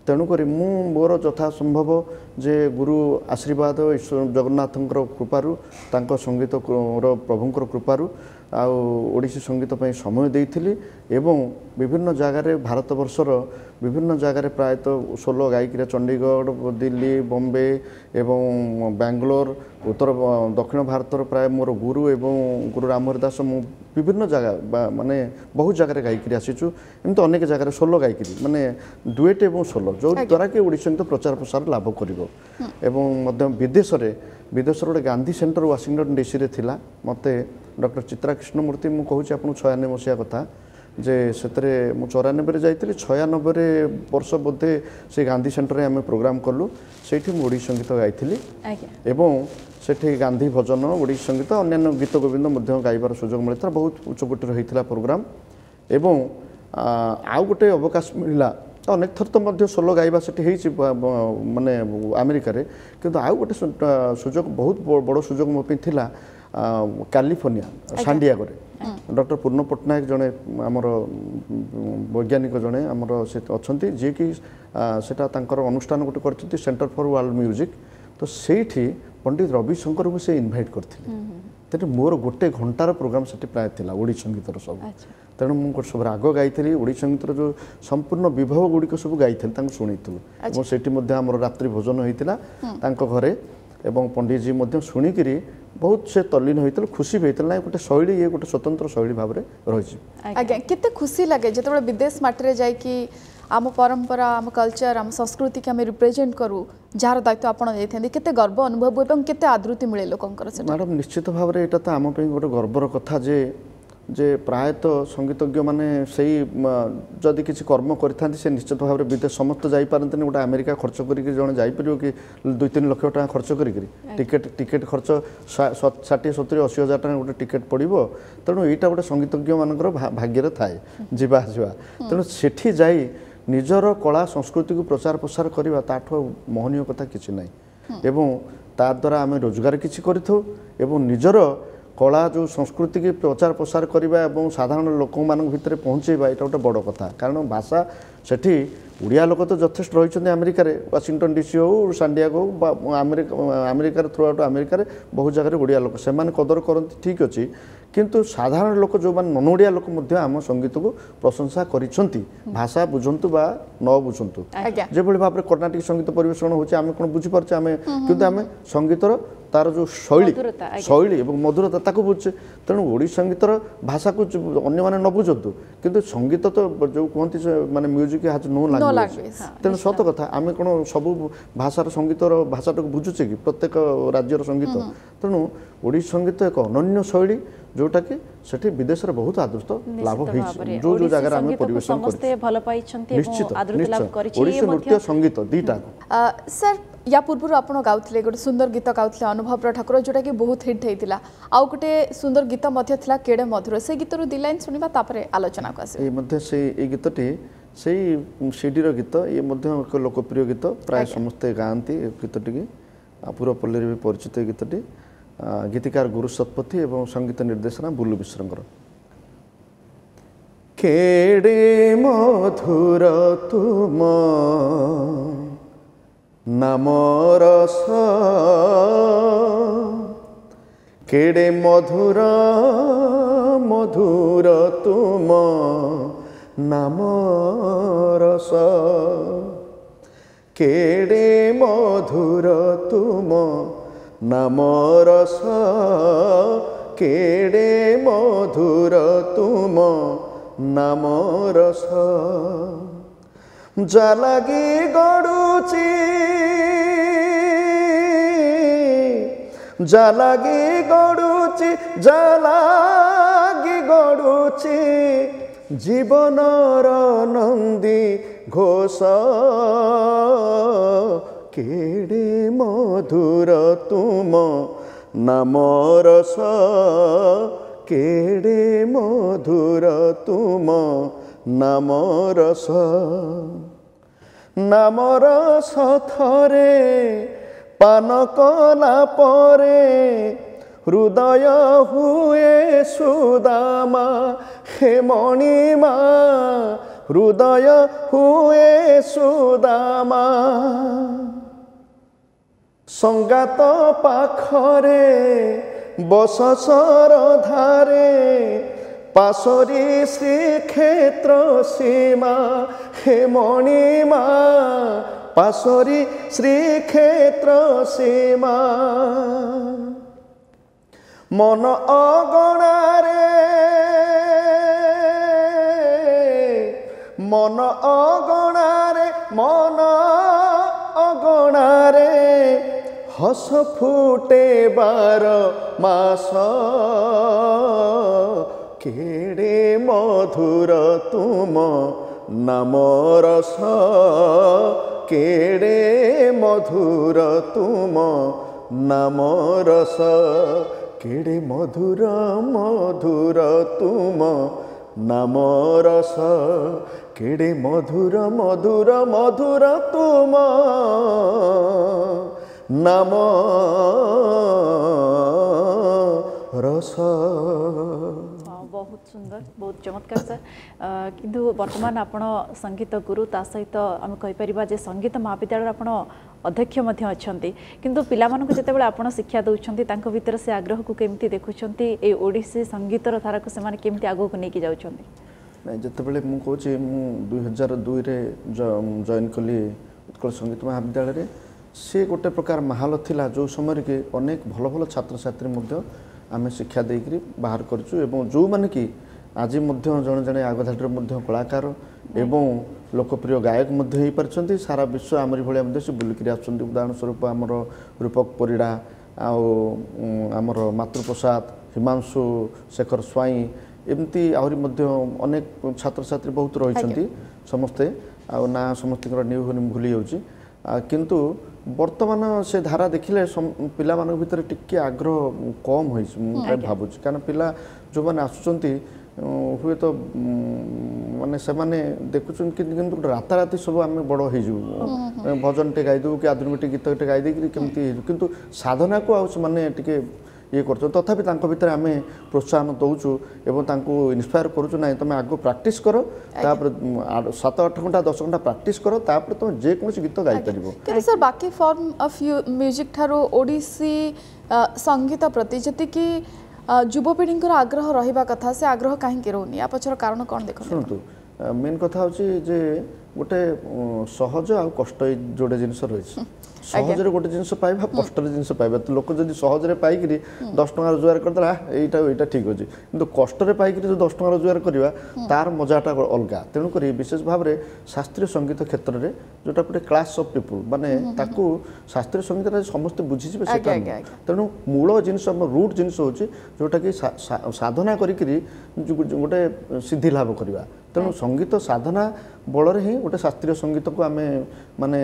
ତେଣୁକରି ମୁଁ ମୋର ଯଥା ସମ୍ଭବ ଯେ ଗୁରୁ ଆଶୀର୍ବାଦ, ଈଶ୍ୱର ଜଗନ୍ନାଥଙ୍କର କୃପାରୁ, ତାଙ୍କ ସଙ୍ଗୀତର ପ୍ରଭୁଙ୍କର କୃପାରୁ ଆଉ ଓଡ଼ିଶୀ ସଙ୍ଗୀତ ପାଇଁ ସମୟ ଦେଇଥିଲି ଏବଂ ବିଭିନ୍ନ ଜାଗାରେ, ଭାରତବର୍ଷର ବିଭିନ୍ନ ଜାଗାରେ ପ୍ରାୟତଃ ସୋଲୋ ଗାଇକିରି ଚଣ୍ଡିଗଡ଼, ଦିଲ୍ଲୀ, ବମ୍ବେ ଏବଂ ବାଙ୍ଗଲୋର, ଉତ୍ତର ଦକ୍ଷିଣ ଭାରତର ପ୍ରାୟ ମୋର ଗୁରୁ ଏବଂ ଗୁରୁ ରାମହରି ଦାସ, ମୁଁ ବିଭିନ୍ନ ଜାଗା ମାନେ ବହୁତ ଜାଗାରେ ଗାଇକିରି ଆସିଛୁ। ଏମିତି ଅନେକ ଜାଗାରେ ସୋଲୋ ଗାଇକିରି, ମାନେ ଡୁଏଟ୍ ଏବଂ ସୋଲୋ, ଯେଉଁଦ୍ୱାରା କି ଓଡ଼ିଶୀ ସଙ୍ଗୀତ ପ୍ରଚାର ପ୍ରସାର ଲାଭ କରିବ। ଏବଂ ମଧ୍ୟ ବିଦେଶରେ, ବିଦେଶର ଗୋଟେ ଗାନ୍ଧୀ ସେଣ୍ଟର ୱାସିଂଟନ୍ ଡିସିରେ ଥିଲା, ମୋତେ ଡକ୍ଟର ଚିତ୍ରା କୃଷ୍ଣମୂର୍ତ୍ତି, ମୁଁ କହୁଛି ଆପଣଙ୍କୁ 96 ମସିହା କଥା, ଯେ ସେଥିରେ ମୁଁ 94ରେ ଯାଇଥିଲି, 96 ବର୍ଷ ବୋଧେ ସେ ଗାନ୍ଧୀ ସେଣ୍ଟରରେ ଆମେ ପ୍ରୋଗ୍ରାମ୍ କଲୁ। ସେଇଠି ମୁଁ ଓଡ଼ିଶୀ ସଙ୍ଗୀତ ଗାଇଥିଲି ଏବଂ ସେଠି ଗାନ୍ଧୀ ଭଜନ, ଓଡ଼ିଶୀ ସଙ୍ଗୀତ, ଅନ୍ୟାନ୍ୟ ଗୀତ ଗୋବିନ୍ଦ ମଧ୍ୟ ଗାଇବାର ସୁଯୋଗ ମିଳିଥିଲା। ବହୁତ ଉଚ୍ଚକୋଟୀର ହେଇଥିଲା ପ୍ରୋଗ୍ରାମ୍। ଏବଂ ଆଉ ଗୋଟେ ଅବକାଶ ମିଳିଲା, ଅନେକ ଥର ତ ମଧ୍ୟ ସୋଲୋ ଗାଇବା ସେଠି ହେଇଛି ମାନେ ଆମେରିକାରେ, କିନ୍ତୁ ଆଉ ଗୋଟେ ସୁଯୋଗ, ବହୁତ ବଡ଼ ସୁଯୋଗ ମୋ ପାଇଁ ଥିଲା କାଲିଫର୍ଣ୍ଣିଆ ସାଣ୍ଡିଆଗୋରେ। ଡକ୍ଟର ପୂର୍ଣ୍ଣ ପଟ୍ଟନାୟକ ଜଣେ ଆମର ବୈଜ୍ଞାନିକ ଜଣେ ଆମର ସେ ଅଛନ୍ତି, ଯିଏକି ସେଟା ତାଙ୍କର ଅନୁଷ୍ଠାନ ଗୋଟେ କରିଛନ୍ତି, ସେଣ୍ଟର ଫର୍ ୱାର୍ଲଡ ମ୍ୟୁଜିକ୍। ତ ସେଇଠି ପଣ୍ଡିତ ରବିଶଙ୍କରଙ୍କୁ ସେ ଇନଭାଇଟ୍ କରିଥିଲେ। ତେଣୁ ମୋର ଗୋଟେ ଘଣ୍ଟାର ପ୍ରୋଗ୍ରାମ୍ ସେଠି ପ୍ରାୟ ଥିଲା ଓଡ଼ିଶୀ ସଙ୍ଗୀତର ସବୁ। ତେଣୁ ମୁଁ ସବୁ ରାଗ ଗାଇଥିଲି, ଓଡ଼ିଶୀ ସଙ୍ଗୀତର ଯେଉଁ ସମ୍ପୂର୍ଣ୍ଣ ବିଭବ ଗୁଡ଼ିକ ସବୁ ଗାଇଥିଲି, ତାଙ୍କୁ ଶୁଣେଇଥିଲୁ। ଏବଂ ସେଠି ମଧ୍ୟ ଆମର ରାତ୍ରି ଭୋଜନ ହେଇଥିଲା ତାଙ୍କ ଘରେ, ଏବଂ ପଣ୍ଡିତଜୀ ମଧ୍ୟ ଶୁଣିକିରି ବହୁତ ସେ ତଲ୍ଲୀନ ହୋଇଥିଲେ, ଖୁସି ବି ହେଇଥିଲେ। ନାଇଁ, ଗୋଟେ ଶୈଳୀ, ଇଏ ଗୋଟେ ସ୍ୱତନ୍ତ୍ର ଶୈଳୀ ଭାବରେ ରହିଛି। ଆଜ୍ଞା, କେତେ ଖୁସି ଲାଗେ ଯେତେବେଳେ ବିଦେଶ ମାଟିରେ ଯାଇକି ଆମ ପରମ୍ପରା, ଆମ କଲଚର, ଆମ ସଂସ୍କୃତିକି ଆମେ ରିପ୍ରେଜେଣ୍ଟ କରୁ, ଯାହାର ଦାୟିତ୍ୱ ଆପଣ ନେଇଥାନ୍ତି, କେତେ ଗର୍ବ ଅନୁଭବ ହୁଏ ଏବଂ କେତେ ଆଦୃତି ମିଳେ ଲୋକଙ୍କର? ମ୍ୟାଡ଼ାମ୍, ନିଶ୍ଚିତ ଭାବରେ ଏଇଟା ତ ଆମ ପାଇଁ ଗୋଟେ ଗର୍ବର କଥା ଯେ ପ୍ରାୟତଃ ସଙ୍ଗୀତଜ୍ଞମାନେ ସେଇ ଯଦି କିଛି କର୍ମ କରିଥାନ୍ତି, ସେ ନିଶ୍ଚିତ ଭାବରେ ବିଦେଶ ସମସ୍ତେ ଯାଇପାରନ୍ତିନି। ଗୋଟେ ଆମେରିକା ଖର୍ଚ୍ଚ କରିକି ଜଣେ ଯାଇପାରିବ କି 2-3 ଲକ୍ଷ ଟଙ୍କା ଖର୍ଚ୍ଚ କରିକିରି? ଟିକେଟ୍ ଖର୍ଚ୍ଚ 60, 70, 80 ହଜାର ଟଙ୍କା ଗୋଟେ ଟିକେଟ୍ ପଡ଼ିବ। ତେଣୁ ଏଇଟା ଗୋଟେ ସଙ୍ଗୀତଜ୍ଞମାନଙ୍କର ଭାଗ୍ୟରେ ଥାଏ ଯିବା ଆସିବା। ତେଣୁ ସେଠି ଯାଇ ନିଜର କଳା ସଂସ୍କୃତିକୁ ପ୍ରଚାର ପ୍ରସାର କରିବା, ତାଠୁ ଆଉ ମହନୀୟ କଥା କିଛି ନାହିଁ। ଏବଂ ତା ଦ୍ୱାରା ଆମେ ରୋଜଗାର କିଛି କରିଥାଉ, ଏବଂ ନିଜର କଳା ଯେଉଁ ସଂସ୍କୃତିକି ପ୍ରଚାର ପ୍ରସାର କରିବା ଏବଂ ସାଧାରଣ ଲୋକମାନଙ୍କ ଭିତରେ ପହଞ୍ଚେଇବା, ଏଇଟା ଗୋଟେ ବଡ଼ କଥା। କାରଣ ଭାଷା ସେଠି ଓଡ଼ିଆ ଲୋକ ତ ଯଥେଷ୍ଟ ରହିଛନ୍ତି ଆମେରିକାରେ, ୱାଶିଂଟନ୍ ଡିସି ହଉ, ସାଣ୍ଡିଆଗୋ ହଉ, ବା ଆମେରିକାର ଥ୍ରୁ ଆଉଟ୍ ଆମେରିକାରେ ବହୁତ ଜାଗାରେ ଓଡ଼ିଆ ଲୋକ, ସେମାନେ କଦର କରନ୍ତି, ଠିକ୍ ଅଛି। କିନ୍ତୁ ସାଧାରଣ ଲୋକ ଯେଉଁମାନେ ନନ୍ ଓଡ଼ିଆ ଲୋକ ମଧ୍ୟ ଆମ ସଙ୍ଗୀତକୁ ପ୍ରଶଂସା କରିଛନ୍ତି, ଭାଷା ବୁଝନ୍ତୁ ବା ନ ବୁଝନ୍ତୁ। ଯେଭଳି ଭାବରେ କର୍ଣ୍ଣାଟକ ସଙ୍ଗୀତ ପରିବେଷଣ ହେଉଛି, ଆମେ କ'ଣ ବୁଝିପାରୁଛେ ଆମେ? କିନ୍ତୁ ଆମେ ସଙ୍ଗୀତର ତାର ଯେଉଁ ଶୈଳୀ ଏବଂ ମଧୁରତା ତାକୁ ବୁଝୁଛେ। ତେଣୁ ଓଡ଼ିଶୀ ସଙ୍ଗୀତର ଭାଷାକୁ ଅନ୍ୟମାନେ ନ ବୁଝନ୍ତୁ, କିନ୍ତୁ ସଙ୍ଗୀତ ତ ଯେଉଁ କୁହନ୍ତି ମାନେ ମ୍ୟୁଜିକ୍ ହାଜ୍ ନୋ ଲାଙ୍ଗୁଏଜ୍। ତେଣୁ ସତ କଥା, ଆମେ କ'ଣ ସବୁ ଭାଷାର ସଙ୍ଗୀତର ଭାଷାଟାକୁ ବୁଝୁଛେ କି ପ୍ରତ୍ୟେକ ରାଜ୍ୟର ସଙ୍ଗୀତ? ତେଣୁ ଓଡ଼ିଶୀ ସଙ୍ଗୀତ ଏକ ଅନନ୍ୟ ଶୈଳୀ, ଯେଉଁଟାକି ସେଠି ବିଦେଶରେ ବହୁତ ଆଦୃତ ଲାଭ ହେଇଛି, ଯେଉଁ ଯେଉଁ ଜାଗାରେ ଆମେ ପରିବେଷଣ ସମସ୍ତେ ଭଲ ପାଇଛନ୍ତି। ନିଶ୍ଚିତ, ଓଡ଼ିଶୀ ନୃତ୍ୟ ସଙ୍ଗୀତ ଦୁଇଟା। ସାର୍, ୟା ପୂର୍ବରୁ ଆପଣ ଗାଉଥିଲେ ଗୋଟେ ସୁନ୍ଦର ଗୀତ ଗାଉଥିଲେ ଅନୁଭବର ଠାକୁର, ଯେଉଁଟାକି ବହୁତ ହିଟ୍ ହେଇଥିଲା। ଆଉ ଗୋଟେ ସୁନ୍ଦର ଗୀତ ମଧ୍ୟ ଥିଲା କେଡ଼େ ମଧୁର, ସେ ଗୀତରୁ ଦି ଲାଇନ୍ ଶୁଣିବା, ତାପରେ ଆଲୋଚନାକୁ ଆସିବା। ଏଇ ମଧ୍ୟ ସେଇ ଏଇ ଗୀତଟି ସେଇ ସିଡ଼ିର ଗୀତ, ଇଏ ମଧ୍ୟ ଏକ ଲୋକପ୍ରିୟ ଗୀତ, ପ୍ରାୟ ସମସ୍ତେ ଗାଆନ୍ତି ଏ ଗୀତଟିକି, ପୁରପଲ୍ଲୀରେ ବି ପରିଚିତ ଏ ଗୀତଟି। ଗୀତିକାର ଗୁରୁ ଶତପଥୀ ଏବଂ ସଙ୍ଗୀତ ନିର୍ଦ୍ଦେଶନା ବୁଲୁ ମିଶ୍ରଙ୍କର। କେଡ଼େ ମଧୁର ତୁମ ନାମ ରସ, କେଡ଼େ ମଧୁର ମଧୁର ତୁମ ନାମ ରସ, କେଡ଼େ ମଧୁର ତୁମ ନାମ ରସ, କେଡ଼େ ମଧୁର ତୁମ ନାମ ରସ। ଜାଲାଗି ଗଡ଼ୁଛି, ଜାଲାଗି ଗଡ଼ୁଛି, ଜାଲାଗି ଗଡ଼ୁଛି ଜୀବନର ନନ୍ଦୀ ଘୋଷ, କେଡ଼େ ମଧୁର ତୁମ ନାମ ରସ, କେଡ଼େ ମଧୁର ତୁମ ନାମ ରସ। ନାମ ରସ ଥରେ ପାନ କଲା ପରେ ହୃଦୟ ହୁଏ ସୁଦାମା, ହେ ମଣିମା, ହୃଦୟ ହୁଏ ସୁଦାମା। ସଙ୍ଗାତ ପାଖରେ ବସ ସରଧାରେ, ପାଶୋରି ଶ୍ରୀକ୍ଷେତ୍ର ସୀମା, ହେ ମଣିମା, ପାଶୋରି ଶ୍ରୀକ୍ଷେତ୍ର ସୀମା। ମନ ଅଗଣାରେ, ମନ ଅଗଣାରେ, ମନ ଅଗଣାରେ ହସ ଫୁଟେ ବାର ମାସ, କେଡ଼େ ମଧୁର ତୁମ ନାମ ରସ, କେଡ଼େ ମଧୁର ତୁମ ନାମ ରସ, କେଡ଼େ ମଧୁର ମଧୁର ତୁମ ନାମ ରସ, କେଡ଼େ ମଧୁର ମଧୁର ମଧୁର ତୁମ ନାମ ରସ। ବହୁତ ସୁନ୍ଦର, ବହୁତ ଚମତ୍କାର ସାର୍। କିନ୍ତୁ ବର୍ତ୍ତମାନ ଆପଣ ସଙ୍ଗୀତ ଗୁରୁ, ତା ସହିତ ଆମେ କହିପାରିବା ଯେ ସଙ୍ଗୀତ ମହାବିଦ୍ୟାଳୟରେ ଆପଣ ଅଧ୍ୟକ୍ଷ ମଧ୍ୟ ଅଛନ୍ତି। କିନ୍ତୁ ପିଲାମାନଙ୍କୁ ଯେତେବେଳେ ଆପଣ ଶିକ୍ଷା ଦେଉଛନ୍ତି, ତାଙ୍କ ଭିତରେ ସେ ଆଗ୍ରହକୁ କେମିତି ଦେଖୁଛନ୍ତି? ଏଇ ଓଡ଼ିଶୀ ସଙ୍ଗୀତର ଧାରାକୁ ସେମାନେ କେମିତି ଆଗକୁ ନେଇକି ଯାଉଛନ୍ତି? ନାଇଁ, ଯେତେବେଳେ ମୁଁ କହୁଛି, ମୁଁ 2002ରେ ଜଏନ୍ କଲି ଉତ୍କଳ ସଙ୍ଗୀତ ମହାବିଦ୍ୟାଳୟରେ। ସେ ଗୋଟେ ପ୍ରକାର ମାହୋଲ ଥିଲା ଯେଉଁ ସମୟରେ କି ଅନେକ ଭଲ ଭଲ ଛାତ୍ରଛାତ୍ରୀ ମଧ୍ୟ ଆମେ ଶିକ୍ଷା ଦେଇକରି ବାହାର କରିଛୁ, ଏବଂ ଯେଉଁମାନେ କି ଆଜି ମଧ୍ୟ ଜଣେ ଜଣେ ଆଗଧାଡ଼ିର ମଧ୍ୟ କଳାକାର ଏବଂ ଲୋକପ୍ରିୟ ଗାୟକ ମଧ୍ୟ ହେଇପାରିଛନ୍ତି। ସାରା ବିଶ୍ୱ ଆମରି ଭଳିଆ ମଧ୍ୟ ସେ ବୁଲିକିରି ଆସୁଛନ୍ତି। ଉଦାହରଣ ସ୍ୱରୂପ ଆମର ରୂପକ ପରିଡ଼ା, ଆଉ ଆମର ମାତୃପ୍ରସାଦ, ହିମାଂଶୁ ଶେଖର ସ୍ୱାଇଁ, ଏମିତି ଆହୁରି ମଧ୍ୟ ଅନେକ ଛାତ୍ରଛାତ୍ରୀ ବହୁତ ରହିଛନ୍ତି ସମସ୍ତେ। ଆଉ ନାଁ ସମସ୍ତଙ୍କର ନ୍ୟୁ ଭୁଲି ଯାଉଛି। କିନ୍ତୁ ବର୍ତ୍ତମାନ ସେ ଧାରା ଦେଖିଲେ ପିଲାମାନଙ୍କ ଭିତରେ ଟିକେ ଆଗ୍ରହ କମ୍ ହୋଇଛି ମୁଁ ଭାବୁଛି। କାରଣ ପିଲା ଯେଉଁମାନେ ଆସୁଛନ୍ତି, ହୁଏତ ମାନେ ସେମାନେ ଦେଖୁଛନ୍ତି, କିନ୍ତୁ ଗୋଟେ ରାତାରାତି ସବୁ ଆମେ ବଡ଼ ହେଇଯିବୁ, ଭଜନଟେ ଗାଇଦେବୁ କି ଆଧୁନିକ ଗୀତଟେ ଗାଇ ଦେଇକିରି କେମିତି ହେଇଯିବୁ। କିନ୍ତୁ ସାଧନାକୁ ଆଉ ସେମାନେ ଟିକେ ଇଏ କରୁଛନ୍ତି। ତଥାପି ତାଙ୍କ ଭିତରେ ଆମେ ପ୍ରୋତ୍ସାହନ ଦେଉଛୁ ଏବଂ ତାଙ୍କୁ ଇନ୍ସପାୟାର କରୁଛୁ, ନାଇଁ ତୁମେ ଆଗ ପ୍ରାକ୍ଟିସ୍ କର, ତାପରେ 7 8 ଘଣ୍ଟା 10 ଘଣ୍ଟା ପ୍ରାକ୍ଟିସ୍ କର, ତାପରେ ତୁମେ ଯେକୌଣସି ଗୀତ ଗାଇପାରିବ। କିନ୍ତୁ ସାର୍, ବାକି ଫର୍ମ ଅଫ୍ ମ୍ୟୁଜିକ୍ ଠାରୁ ଓଡ଼ିଶୀ ସଙ୍ଗୀତ ପ୍ରତି ଯେତିକି ଯୁବପିଢ଼ିଙ୍କର ଆଗ୍ରହ ରହିବା କଥା, ସେ ଆଗ୍ରହ କାହିଁକି ରହୁନି? ୟା ପଛର କାରଣ କ'ଣ ଦେଖନ୍ତୁ? ଶୁଣନ୍ତୁ, ମେନ୍ କଥା ହେଉଛି ଯେ ଗୋଟେ ସହଜ ଆଉ କଷ୍ଟ ଏଇ ଯୋଡ଼େ ଜିନିଷ ରହିଛି। ସହଜରେ ଗୋଟେ ଜିନିଷ ପାଇବା, କଷ୍ଟରେ ଜିନିଷ ପାଇବା। ତ ଲୋକ ଯଦି ସହଜରେ ପାଇକିରି 10 ଟଙ୍କା ରୋଜଗାର କରିଦେଲା, ଏଇଟା ଠିକ୍ ଅଛି। କିନ୍ତୁ କଷ୍ଟରେ ପାଇକିରି ଯେଉଁ 10 ଟଙ୍କା ରୋଜଗାର କରିବା, ତାର ମଜାଟା ଅଲଗା। ତେଣୁକରି ବିଶେଷ ଭାବରେ ଶାସ୍ତ୍ରୀୟ ସଙ୍ଗୀତ କ୍ଷେତ୍ରରେ ଯେଉଁଟା ଗୋଟେ କ୍ଲାସ୍ ଅଫ୍ ପିପୁଲ୍, ମାନେ ତାକୁ ଶାସ୍ତ୍ରୀୟ ସଙ୍ଗୀତଟା ସମସ୍ତେ ବୁଝିଯିବେ ସେଟା। ତେଣୁ ମୂଳ ଜିନିଷ, ଆମ ରୁଟ୍ ଜିନିଷ ହେଉଛି ଯେଉଁଟାକି ସାଧନା କରିକିରି ଗୋଟେ ସିଦ୍ଧି ଲାଭ କରିବା। ତେଣୁ ସଙ୍ଗୀତ ସାଧନା ବଳରେ ହିଁ ଗୋଟେ ଶାସ୍ତ୍ରୀୟ ସଙ୍ଗୀତକୁ ଆମେ, ମାନେ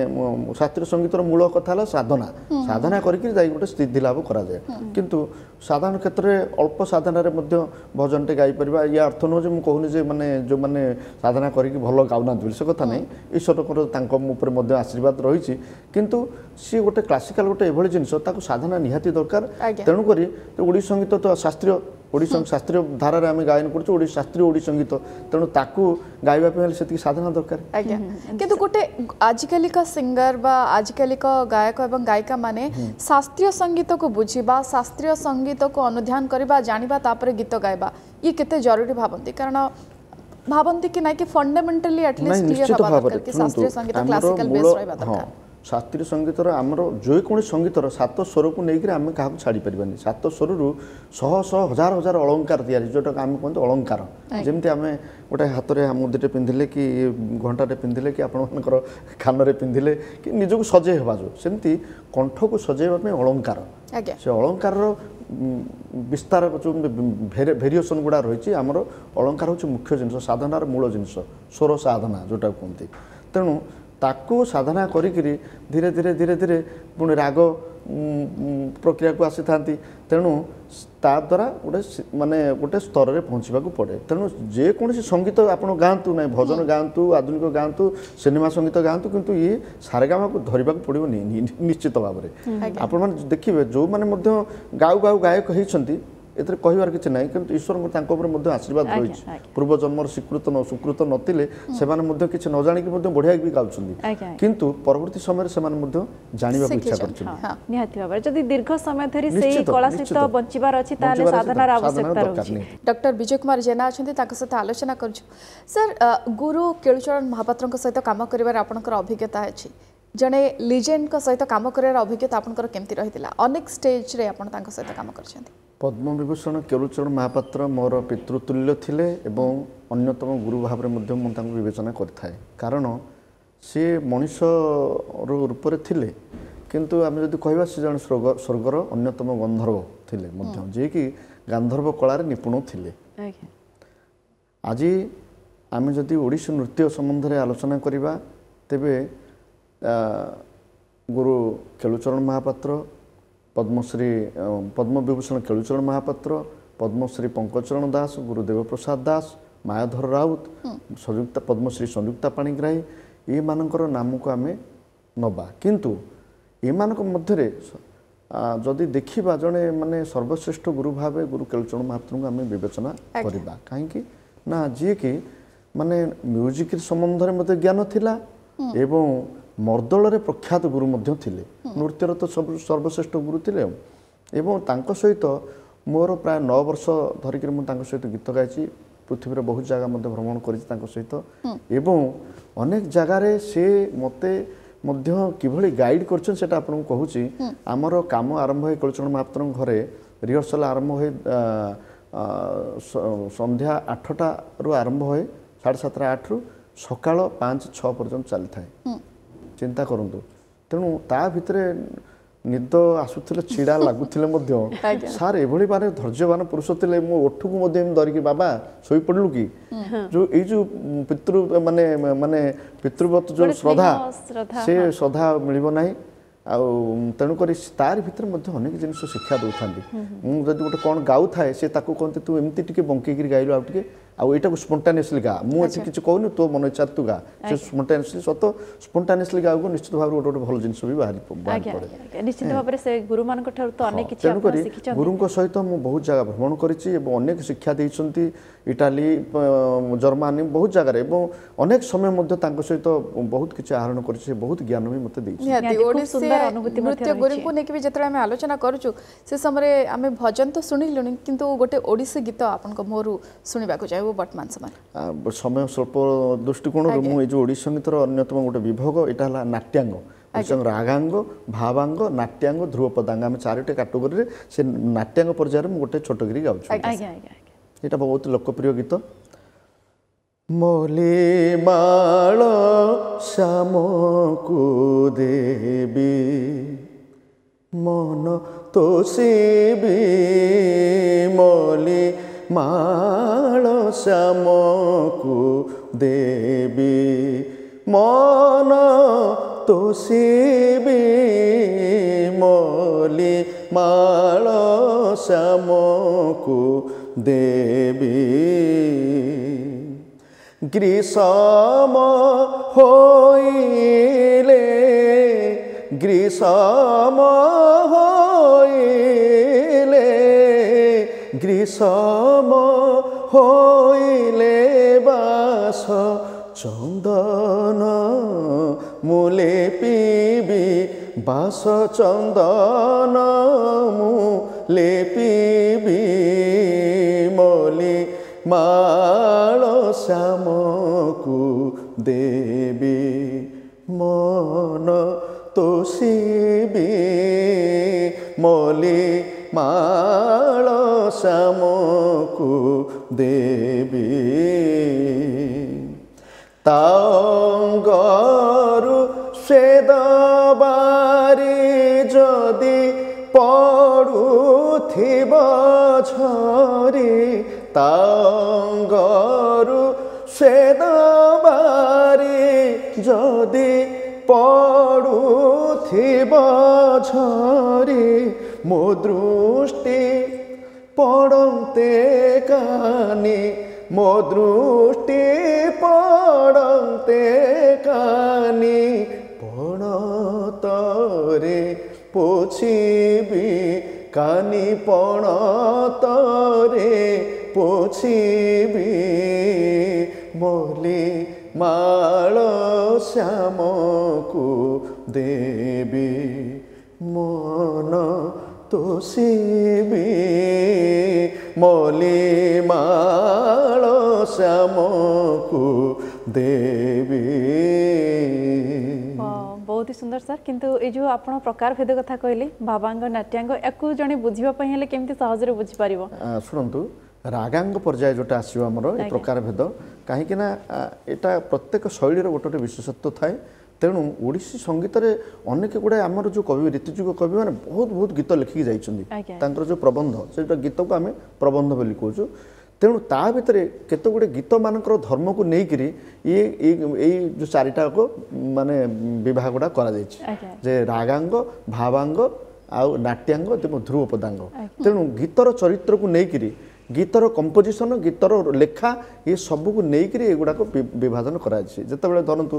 ଶାସ୍ତ୍ରୀୟ ସଙ୍ଗୀତର ମୂଳ କଥା ହେଲା ସାଧନା। ସାଧନା କରିକି ଯାଇ ଗୋଟେ ସିଦ୍ଧି ଲାଭ କରାଯାଏ। କିନ୍ତୁ ସାଧାରଣ କ୍ଷେତ୍ରରେ ଅଳ୍ପ ସାଧନାରେ ମଧ୍ୟ ଭଜନଟେ ଗାଇପାରିବା। ୟା ଅର୍ଥ ନୁହଁ ଯେ ମୁଁ କହୁନି ଯେ ମାନେ ଯେଉଁମାନେ ସାଧନା କରିକି ଭଲ ଗାଉନାହାନ୍ତି ବୋଲି, ସେ କଥା ନାହିଁ। ଈଶ୍ୱରଙ୍କର ତାଙ୍କ ଉପରେ ମଧ୍ୟ ଆଶୀର୍ବାଦ ରହିଛି। କିନ୍ତୁ ସିଏ ଗୋଟେ କ୍ଲାସିକାଲ ଗୋଟେ ଏଭଳି ଜିନିଷ, ତାକୁ ସାଧନା ନିହାତି ଦରକାର। ତେଣୁକରି ଓଡ଼ିଶୀ ସଙ୍ଗୀତ ତ ଶାସ୍ତ୍ରୀୟ, ଓଡ଼ିଶା ଶାସ୍ତ୍ରୀୟ ଧାରାରେ ଆମେ ଗାୟନ କରୁଛୁ, ଓଡ଼ିଶା ଶାସ୍ତ୍ରୀୟ ଓଡ଼ିଶୀ ସଙ୍ଗୀତ। ତେଣୁ ତାକୁ ଗାଇବା ପାଇଁ ହେଲେ ସେତିକି ସାଧନା ଦରକାର। ଆଜ୍ଞା, କିନ୍ତୁ ଗୋଟେ ଆଜିକାଲିକା ସିଙ୍ଗର ବା ଆଜିକାଲିକା ଗାୟକ ଏବଂ ଗାୟିକା ମାନେ ଶାସ୍ତ୍ରୀୟ ସଙ୍ଗୀତକୁ ବୁଝିବା, ଶାସ୍ତ୍ରୀୟ ସଙ୍ଗୀତକୁ ଅନୁଧ୍ୟାନ କରିବା, ଜାଣିବା, ତାପରେ ଗୀତ ଗାଇବା, ଇଏ କେତେ ଜରୁରୀ ଭାବନ୍ତି? କାରଣ ଭାବନ୍ତି କି ନାଇଁ କି ଫଣ୍ଡାମେଣ୍ଟାଲି ଆଟଲିଷ୍ଟ କ୍ଲିୟର ହେବା ଦରକାର କି ଶାସ୍ତ୍ରୀୟ ସଙ୍ଗୀତ କ୍ଲାସିକାଲ ବେସ୍ ରହିବା ଦରକାର? ଶାସ୍ତ୍ରୀୟ ସଙ୍ଗୀତର, ଆମର ଯେକୌଣସି ସଙ୍ଗୀତର ସାତ ସ୍ୱରକୁ ନେଇକରି ଆମେ କାହାକୁ ଛାଡ଼ିପାରିବାନି। ସାତ ସ୍ୱରରୁ ଶହ ଶହ ହଜାର ହଜାର ଅଳଙ୍କାର ତିଆରି, ଯେଉଁଟାକୁ ଆମେ କୁହନ୍ତି ଅଳଙ୍କାର। ଯେମିତି ଆମେ ଗୋଟେ ହାତରେ ମୁଦିଟେ ପିନ୍ଧିଲେ କି ଘଣ୍ଟାଟେ ପିନ୍ଧିଲେ କି ଆପଣମାନଙ୍କର କାନରେ ପିନ୍ଧିଲେ କି ନିଜକୁ ସଜେଇ ହେବା ଯେଉଁ, ସେମିତି କଣ୍ଠକୁ ସଜେଇବା ପାଇଁ ଅଳଙ୍କାର। ସେ ଅଳଙ୍କାରର ବିସ୍ତାର ଯେଉଁ ଭେରିଏସନ୍ ଗୁଡ଼ା ରହିଛି, ଆମର ଅଳଙ୍କାର ହେଉଛି ମୁଖ୍ୟ ଜିନିଷ, ସାଧନାର ମୂଳ ଜିନିଷ, ସ୍ୱର ସାଧନା ଯେଉଁଟାକୁ କୁହନ୍ତି। ତେଣୁ ତାକୁ ସାଧନା କରିକିରି ଧୀରେ ଧୀରେ ଧୀରେ ଧୀରେ ପୁଣି ରାଗ ପ୍ରକ୍ରିୟାକୁ ଆସିଥାନ୍ତି। ତେଣୁ ତା ଦ୍ୱାରା ଗୋଟେ ମାନେ ଗୋଟେ ସ୍ତରରେ ପହଞ୍ଚିବାକୁ ପଡ଼େ। ତେଣୁ ଯେକୌଣସି ସଙ୍ଗୀତ ଆପଣ ଗାଆନ୍ତୁ ନାହିଁ, ଭଜନ ଗାଆନ୍ତୁ, ଆଧୁନିକ ଗାଆନ୍ତୁ, ସିନେମା ସଙ୍ଗୀତ ଗାଆନ୍ତୁ, କିନ୍ତୁ ଇଏ ସାରେଗାମାକୁ ଧରିବାକୁ ପଡ଼ିବ ନିଶ୍ଚିତ ଭାବରେ। ଆପଣମାନେ ଦେଖିବେ, ଯେଉଁମାନେ ମଧ୍ୟ ଗାଉ ଗାଉ ଗାୟକ ହେଇଛନ୍ତି, ଏଥିରେ କହିବାର କିଛି ନାହିଁ, କିନ୍ତୁ ଈଶ୍ୱରଙ୍କ ତାଙ୍କ ଉପରେ ମଧ୍ୟ ଆଶୀର୍ବାଦ ରହିଛି। ପୂର୍ବ ଜନ୍ମର ସ୍ୱୀକୃତ ସୁକୃତ ନଥିଲେ ସେମାନେ ମଧ୍ୟ କିଛି ନ ଜାଣିକି ମଧ୍ୟ ବଢ଼ିଆ ବି ଗାଉଛନ୍ତି, କିନ୍ତୁ ପରବର୍ତ୍ତୀ ସମୟରେ ସେମାନେ ମଧ୍ୟ ଜାଣିବାକୁ ଇଚ୍ଛା କରୁଛନ୍ତି। ନିହାତି ଭାବରେ ଯଦି ଦୀର୍ଘ ସମୟ ଧରି ସେଇ କଳା ସହିତ ବଞ୍ଚିବାର ଅଛି, ତାହେଲେ ସାଧନାର ଆବଶ୍ୟକତା ରହୁଛି। ଡକ୍ଟର ବିଜୟ କୁମାର ଜେନା ଅଛନ୍ତି, ତାଙ୍କ ସହିତ ଆଲୋଚନା କରୁଛୁ। ସାର୍, ଗୁରୁ କେଳୁଚରଣ ମହାପାତ୍ରଙ୍କ ସହିତ କାମ କରିବାର ଆପଣଙ୍କର ଅଭିଜ୍ଞତା ଅଛି। ଜଣେ ଲିଜେଣ୍ଡଙ୍କ ସହିତ କାମ କରିବାର ଅଭିଜ୍ଞତା ଆପଣଙ୍କର କେମିତି ରହିଥିଲା? ଅନେକ ଷ୍ଟେଜ୍ରେ ଆପଣ ତାଙ୍କ ସହିତ କାମ କରିଛନ୍ତି। ପଦ୍ମବିଭୂଷଣ କେଳୁଚରଣ ମହାପାତ୍ର ମୋର ପିତୃତୁଲ୍ୟ ଥିଲେ ଏବଂ ଅନ୍ୟତମ ଗୁରୁ ଭାବରେ ମଧ୍ୟ ମୁଁ ତାଙ୍କୁ ବିବେଚନା କରିଥାଏ। କାରଣ ସିଏ ମଣିଷର ରୂପରେ ଥିଲେ, କିନ୍ତୁ ଆମେ ଯଦି କହିବା ସେ ଜଣେ ସ୍ୱର୍ଗର ଅନ୍ୟତମ ଗନ୍ଧର୍ବ ଥିଲେ ମଧ୍ୟ, ଯିଏକି ଗାନ୍ଧର୍ବ କଳାରେ ନିପୁଣ ଥିଲେ। ଆଜି ଆମେ ଯଦି ଓଡ଼ିଶୀ ନୃତ୍ୟ ସମ୍ବନ୍ଧରେ ଆଲୋଚନା କରିବା ତେବେ ଗୁରୁ କେଳୁଚରଣ ମହାପାତ୍ର, ପଦ୍ମଶ୍ରୀ ପଦ୍ମବିଭୂଷଣ କେଳୁଚରଣ ମହାପାତ୍ର, ପଦ୍ମଶ୍ରୀ ପଙ୍କଜଚରଣ ଦାସ, ଗୁରୁ ଦେବପ୍ରସାଦ ଦାସ, ମାୟାଧର ରାଉତ, ସଂଯୁକ୍ତା ପଦ୍ମଶ୍ରୀ ସଂଯୁକ୍ତା ପାଣିଗ୍ରାହୀ, ଏମାନଙ୍କର ନାମକୁ ଆମେ ନେବା। କିନ୍ତୁ ଏମାନଙ୍କ ମଧ୍ୟରେ ଯଦି ଦେଖିବା ଜଣେ ମାନେ ସର୍ବଶ୍ରେଷ୍ଠ ଗୁରୁ ଭାବେ ଗୁରୁ କେଳୁଚରଣ ମହାପାତ୍ରଙ୍କୁ ଆମେ ବିବେଚନା କରିବା। କାହିଁକି ନା ଯିଏକି ମାନେ ମ୍ୟୁଜିକ୍ ସମ୍ବନ୍ଧରେ ମଧ୍ୟ ଜ୍ଞାନ ଥିଲା ଏବଂ ମର୍ଦ୍ଦଳରେ ପ୍ରଖ୍ୟାତ ଗୁରୁ ମଧ୍ୟ ଥିଲେ, ନୃତ୍ୟର ତ ସବୁ ସର୍ବଶ୍ରେଷ୍ଠ ଗୁରୁ ଥିଲେ। ଏବଂ ତାଙ୍କ ସହିତ ମୋର ପ୍ରାୟ 9 ବର୍ଷ ଧରିକିରି ମୁଁ ତାଙ୍କ ସହିତ ଗୀତ ଗାଇଛି, ପୃଥିବୀର ବହୁତ ଜାଗା ମଧ୍ୟ ଭ୍ରମଣ କରିଛି ତାଙ୍କ ସହିତ। ଏବଂ ଅନେକ ଜାଗାରେ ସେ ମୋତେ ମଧ୍ୟ କିଭଳି ଗାଇଡ଼ କରିଛନ୍ତି ସେଇଟା ଆପଣଙ୍କୁ କହୁଛି। ଆମର କାମ ଆରମ୍ଭ ହୋଇ କେଳୁଚରଣ ମହାପାତ୍ରଙ୍କ ଘରେ ରିହର୍ସାଲ ଆରମ୍ଭ ହୋଇ ସନ୍ଧ୍ୟା 8ଟାରୁ ଆରମ୍ଭ ହୁଏ, 7:30 8ରୁ ସକାଳ 5-6 ପର୍ଯ୍ୟନ୍ତ ଚାଲିଥାଏ। ଚିନ୍ତା କରନ୍ତୁ। ତେଣୁ ତା ଭିତରେ ନିଦ ଆସୁଥିଲେ, ଛିଡ଼ା ଲାଗୁଥିଲେ ମଧ୍ୟ ସାର୍ ଏଭଳି ମାନେ ଧୈର୍ଯ୍ୟବାନ ପୁରୁଷ ଥିଲେ। ମୋ ଓଠକୁ ମଧ୍ୟ ଏମିତି ଧରିକି, ବାବା ଶୋଇପଡ଼ିଲୁ କି, ଯୋଉ ଏଇ ଯୋଉ ପିତୃ ମାନେ ମାନେ ପିତୃବତ ଯୋଉ ଶ୍ରଦ୍ଧା, ସେ ଶ୍ରଦ୍ଧା ମିଳିବ ନାହିଁ। ଆଉ ତେଣୁକରି ତାରି ଭିତରେ ମଧ୍ୟ ଅନେକ ଜିନିଷ ଶିକ୍ଷା ଦେଉଥାନ୍ତି। ମୁଁ ଯଦି ଗୋଟେ କ'ଣ ଗାଉଥାଏ ସେ ତାକୁ କହନ୍ତି ତୁ ଏମିତି ଟିକେ ବଙ୍କେଇକିରି ଗାଇଲୁ ଆଉ ଟିକେ, ଆଉ ଏଇଟାକୁ ସ୍ପଣ୍ଟାନିୟସଲି ଗା, ମୁଁ ଏଠି କିଛି କହୁନି, ତୋ ମନ ଇଚ୍ଛାରେ ତୁ ଗା। ସେ ସ୍ପଣ୍ଟାନିୟସଲି ସତ ସ୍ପଣ୍ଟାନିୟସଲି ଗାଉକୁ ନିଶ୍ଚିତ ଭାବରେ ଗୋଟେ ଗୋଟେ ଭଲ ଜିନିଷ ବି ବାହାରି ପଡ଼େ। ନିଶ୍ଚିତ ଭାବରେ ସେ ଗୁରୁମାନଙ୍କ ଠାରୁ ତ ଅନେକ କିଛି। ତେଣୁକରି ଗୁରୁଙ୍କ ସହିତ ମୁଁ ବହୁତ ଜାଗା ଭ୍ରମଣ କରିଛି ଏବଂ ଅନେକ ଶିକ୍ଷା ଦେଇଛନ୍ତି, ଇଟାଲୀ, ଜର୍ମାନୀ, ବହୁତ ଜାଗାରେ, ଏବଂ ଅନେକ ସମୟ ମଧ୍ୟ ତାଙ୍କ ସହିତ ବହୁତ କିଛି ଆହରଣ କରିଛି, ସେ ବହୁତ ଜ୍ଞାନ ବି ମୋତେ ଦେଇଛି। ନୃତ୍ୟ ଗୁରୁଙ୍କୁ ନେଇକି ବି ଯେତେବେଳେ ଆମେ ଆଲୋଚନା କରୁଛୁ ସେ ସମୟରେ ଆମେ ଭଜନ ତ ଶୁଣିଲୁଣି, କିନ୍ତୁ ଗୋଟେ ଓଡ଼ିଶୀ ଗୀତ ଆପଣଙ୍କ ମୁହଁରୁ ଶୁଣିବାକୁ ଚାହିଁବୁ ବର୍ତ୍ତମାନ ସମୟ। ସମୟ ସ୍ୱଳ୍ପ ଦୃଷ୍ଟିକୋଣରୁ ମୁଁ ଏଇ ଯେଉଁ ଓଡ଼ିଶୀ ସଙ୍ଗୀତର ଅନ୍ୟତମ ଗୋଟେ ବିଭାଗ, ଏଇଟା ହେଲା ନାଟ୍ୟାଙ୍ଗ, ରାଗାଙ୍ଗ, ଭାବାଙ୍ଗ, ନାଟ୍ୟାଙ୍ଗ, ଧ୍ରୁବପଦାଙ୍ଗ, ଆମେ 4ଟି କାଟେଗୋରୀରେ ସେ ନାଟ୍ୟାଙ୍ଗ ପର୍ଯ୍ୟାୟରେ ମୁଁ ଗୋଟେ ଛୋଟ ଗିରି ଗାଉଛି। ଏଇଟା ବହୁତ ଲୋକପ୍ରିୟ ଗୀତ। ମଲି ମାଳ ଶ୍ୟାମକୁ ଦେବି ମନ ତୋଷିବି, ମଲି ମାଳ ଶ୍ୟାମକୁ ଦେବି ମନ ତୋଷିବି, ମଲି ମାଳ ଶ୍ୟାମକୁ ଦେବି। ଗ୍ରୀଷ୍ମ ହୋଇଲେ, ଗ୍ରୀଷ୍ମ ହୋଇଲେ, ଗ୍ରୀଷ୍ମ ହୋଇଲେ ବାସ ଚନ୍ଦନ ମୂଲେ ପିବି, ବାସ ଚନ୍ଦନ ମୂଲେ ପିବି, ମଲି ମାଳ ଶ୍ୟାମକୁ ଦେବି ମନ ତୋଷିବି, ମଲି ମାଳ ଶ୍ୟାମକୁ ଦେବି। ତାଙ୍ଗରୁ ସ୍ୱେଦବାରି ଯଦି ପଡ଼ୁଥିବ ଝରି, ତାଙ୍ଗରୁ ସ୍ୱେଦବାରି ଯଦି ପଡ଼ୁଥିବ ଝରି, ମୋ ଦୃଷ୍ଟି ପଡ଼ନ୍ତେ କାନି, ମୋ ଦୃଷ୍ଟି ପଡ଼ନ୍ତେ କାନି, ପଣତରେ ପୋଛିବି, କାନି ପଣତରେ ପୋଛିବି, ମଲି ମାଳ ଶ୍ୟାମକୁ ଦେବି ମନ ତୋଷିବି, ମଲି ମାଳ ଶ୍ୟାମକୁ ଦେବି। ବହୁତ ହି ସୁନ୍ଦର ସାର୍। କିନ୍ତୁ ଏଇ ଯେଉଁ ଆପଣ ପ୍ରକାର ଭେଦ କଥା କହିଲେ, ଭାବାଙ୍ଗ, ନାଟ୍ୟାଙ୍ଗ, ୟାକୁ ଜଣେ ବୁଝିବା ପାଇଁ ହେଲେ କେମିତି ସହଜରେ ବୁଝିପାରିବ? ଶୁଣନ୍ତୁ, ରାଗାଙ୍ଗ ପର୍ଯ୍ୟାୟ ଯେଉଁଟା ଆସିବ ଆମର ଏ ପ୍ରକାର ଭେଦ, କାହିଁକି ନା ଏଇଟା ପ୍ରତ୍ୟେକ ଶୈଳୀର ଗୋଟେ ଗୋଟେ ବିଶେଷତ୍ୱ ଥାଏ। ତେଣୁ ଓଡ଼ିଶୀ ସଙ୍ଗୀତରେ ଅନେକ ଗୁଡ଼ାଏ ଆମର ଯେଉଁ କବି, ରୀତିଯୁଗ କବିମାନେ ବହୁତ ବହୁତ ଗୀତ ଲେଖିକି ଯାଇଛନ୍ତି। ତାଙ୍କର ଯେଉଁ ପ୍ରବନ୍ଧ, ସେଇଟା ଗୀତକୁ ଆମେ ପ୍ରବନ୍ଧ ବୋଲି କହୁଛୁ। ତେଣୁ ତା ଭିତରେ କେତେ ଗୁଡ଼ିଏ ଗୀତମାନଙ୍କର ଧର୍ମକୁ ନେଇକରି ଇଏ ଏଇ ଯେଉଁ ଚାରିଟାକ ମାନେ ବିଭାଗ ଗୁଡ଼ା କରାଯାଇଛି, ଯେ ରାଗାଙ୍ଗ, ଭାବାଙ୍ଗ ଆଉ ନାଟ୍ୟାଙ୍ଗ ଏବଂ ଧ୍ରୁବପଦାଙ୍ଗ। ତେଣୁ ଗୀତର ଚରିତ୍ରକୁ ନେଇକରି, ଗୀତର କମ୍ପୋଜିସନ୍, ଗୀତର ଲେଖା, ଏ ସବୁକୁ ନେଇକରି ଏଗୁଡ଼ାକ ବିଭାଜନ କରାଯାଇଛି। ଯେତେବେଳେ ଧରନ୍ତୁ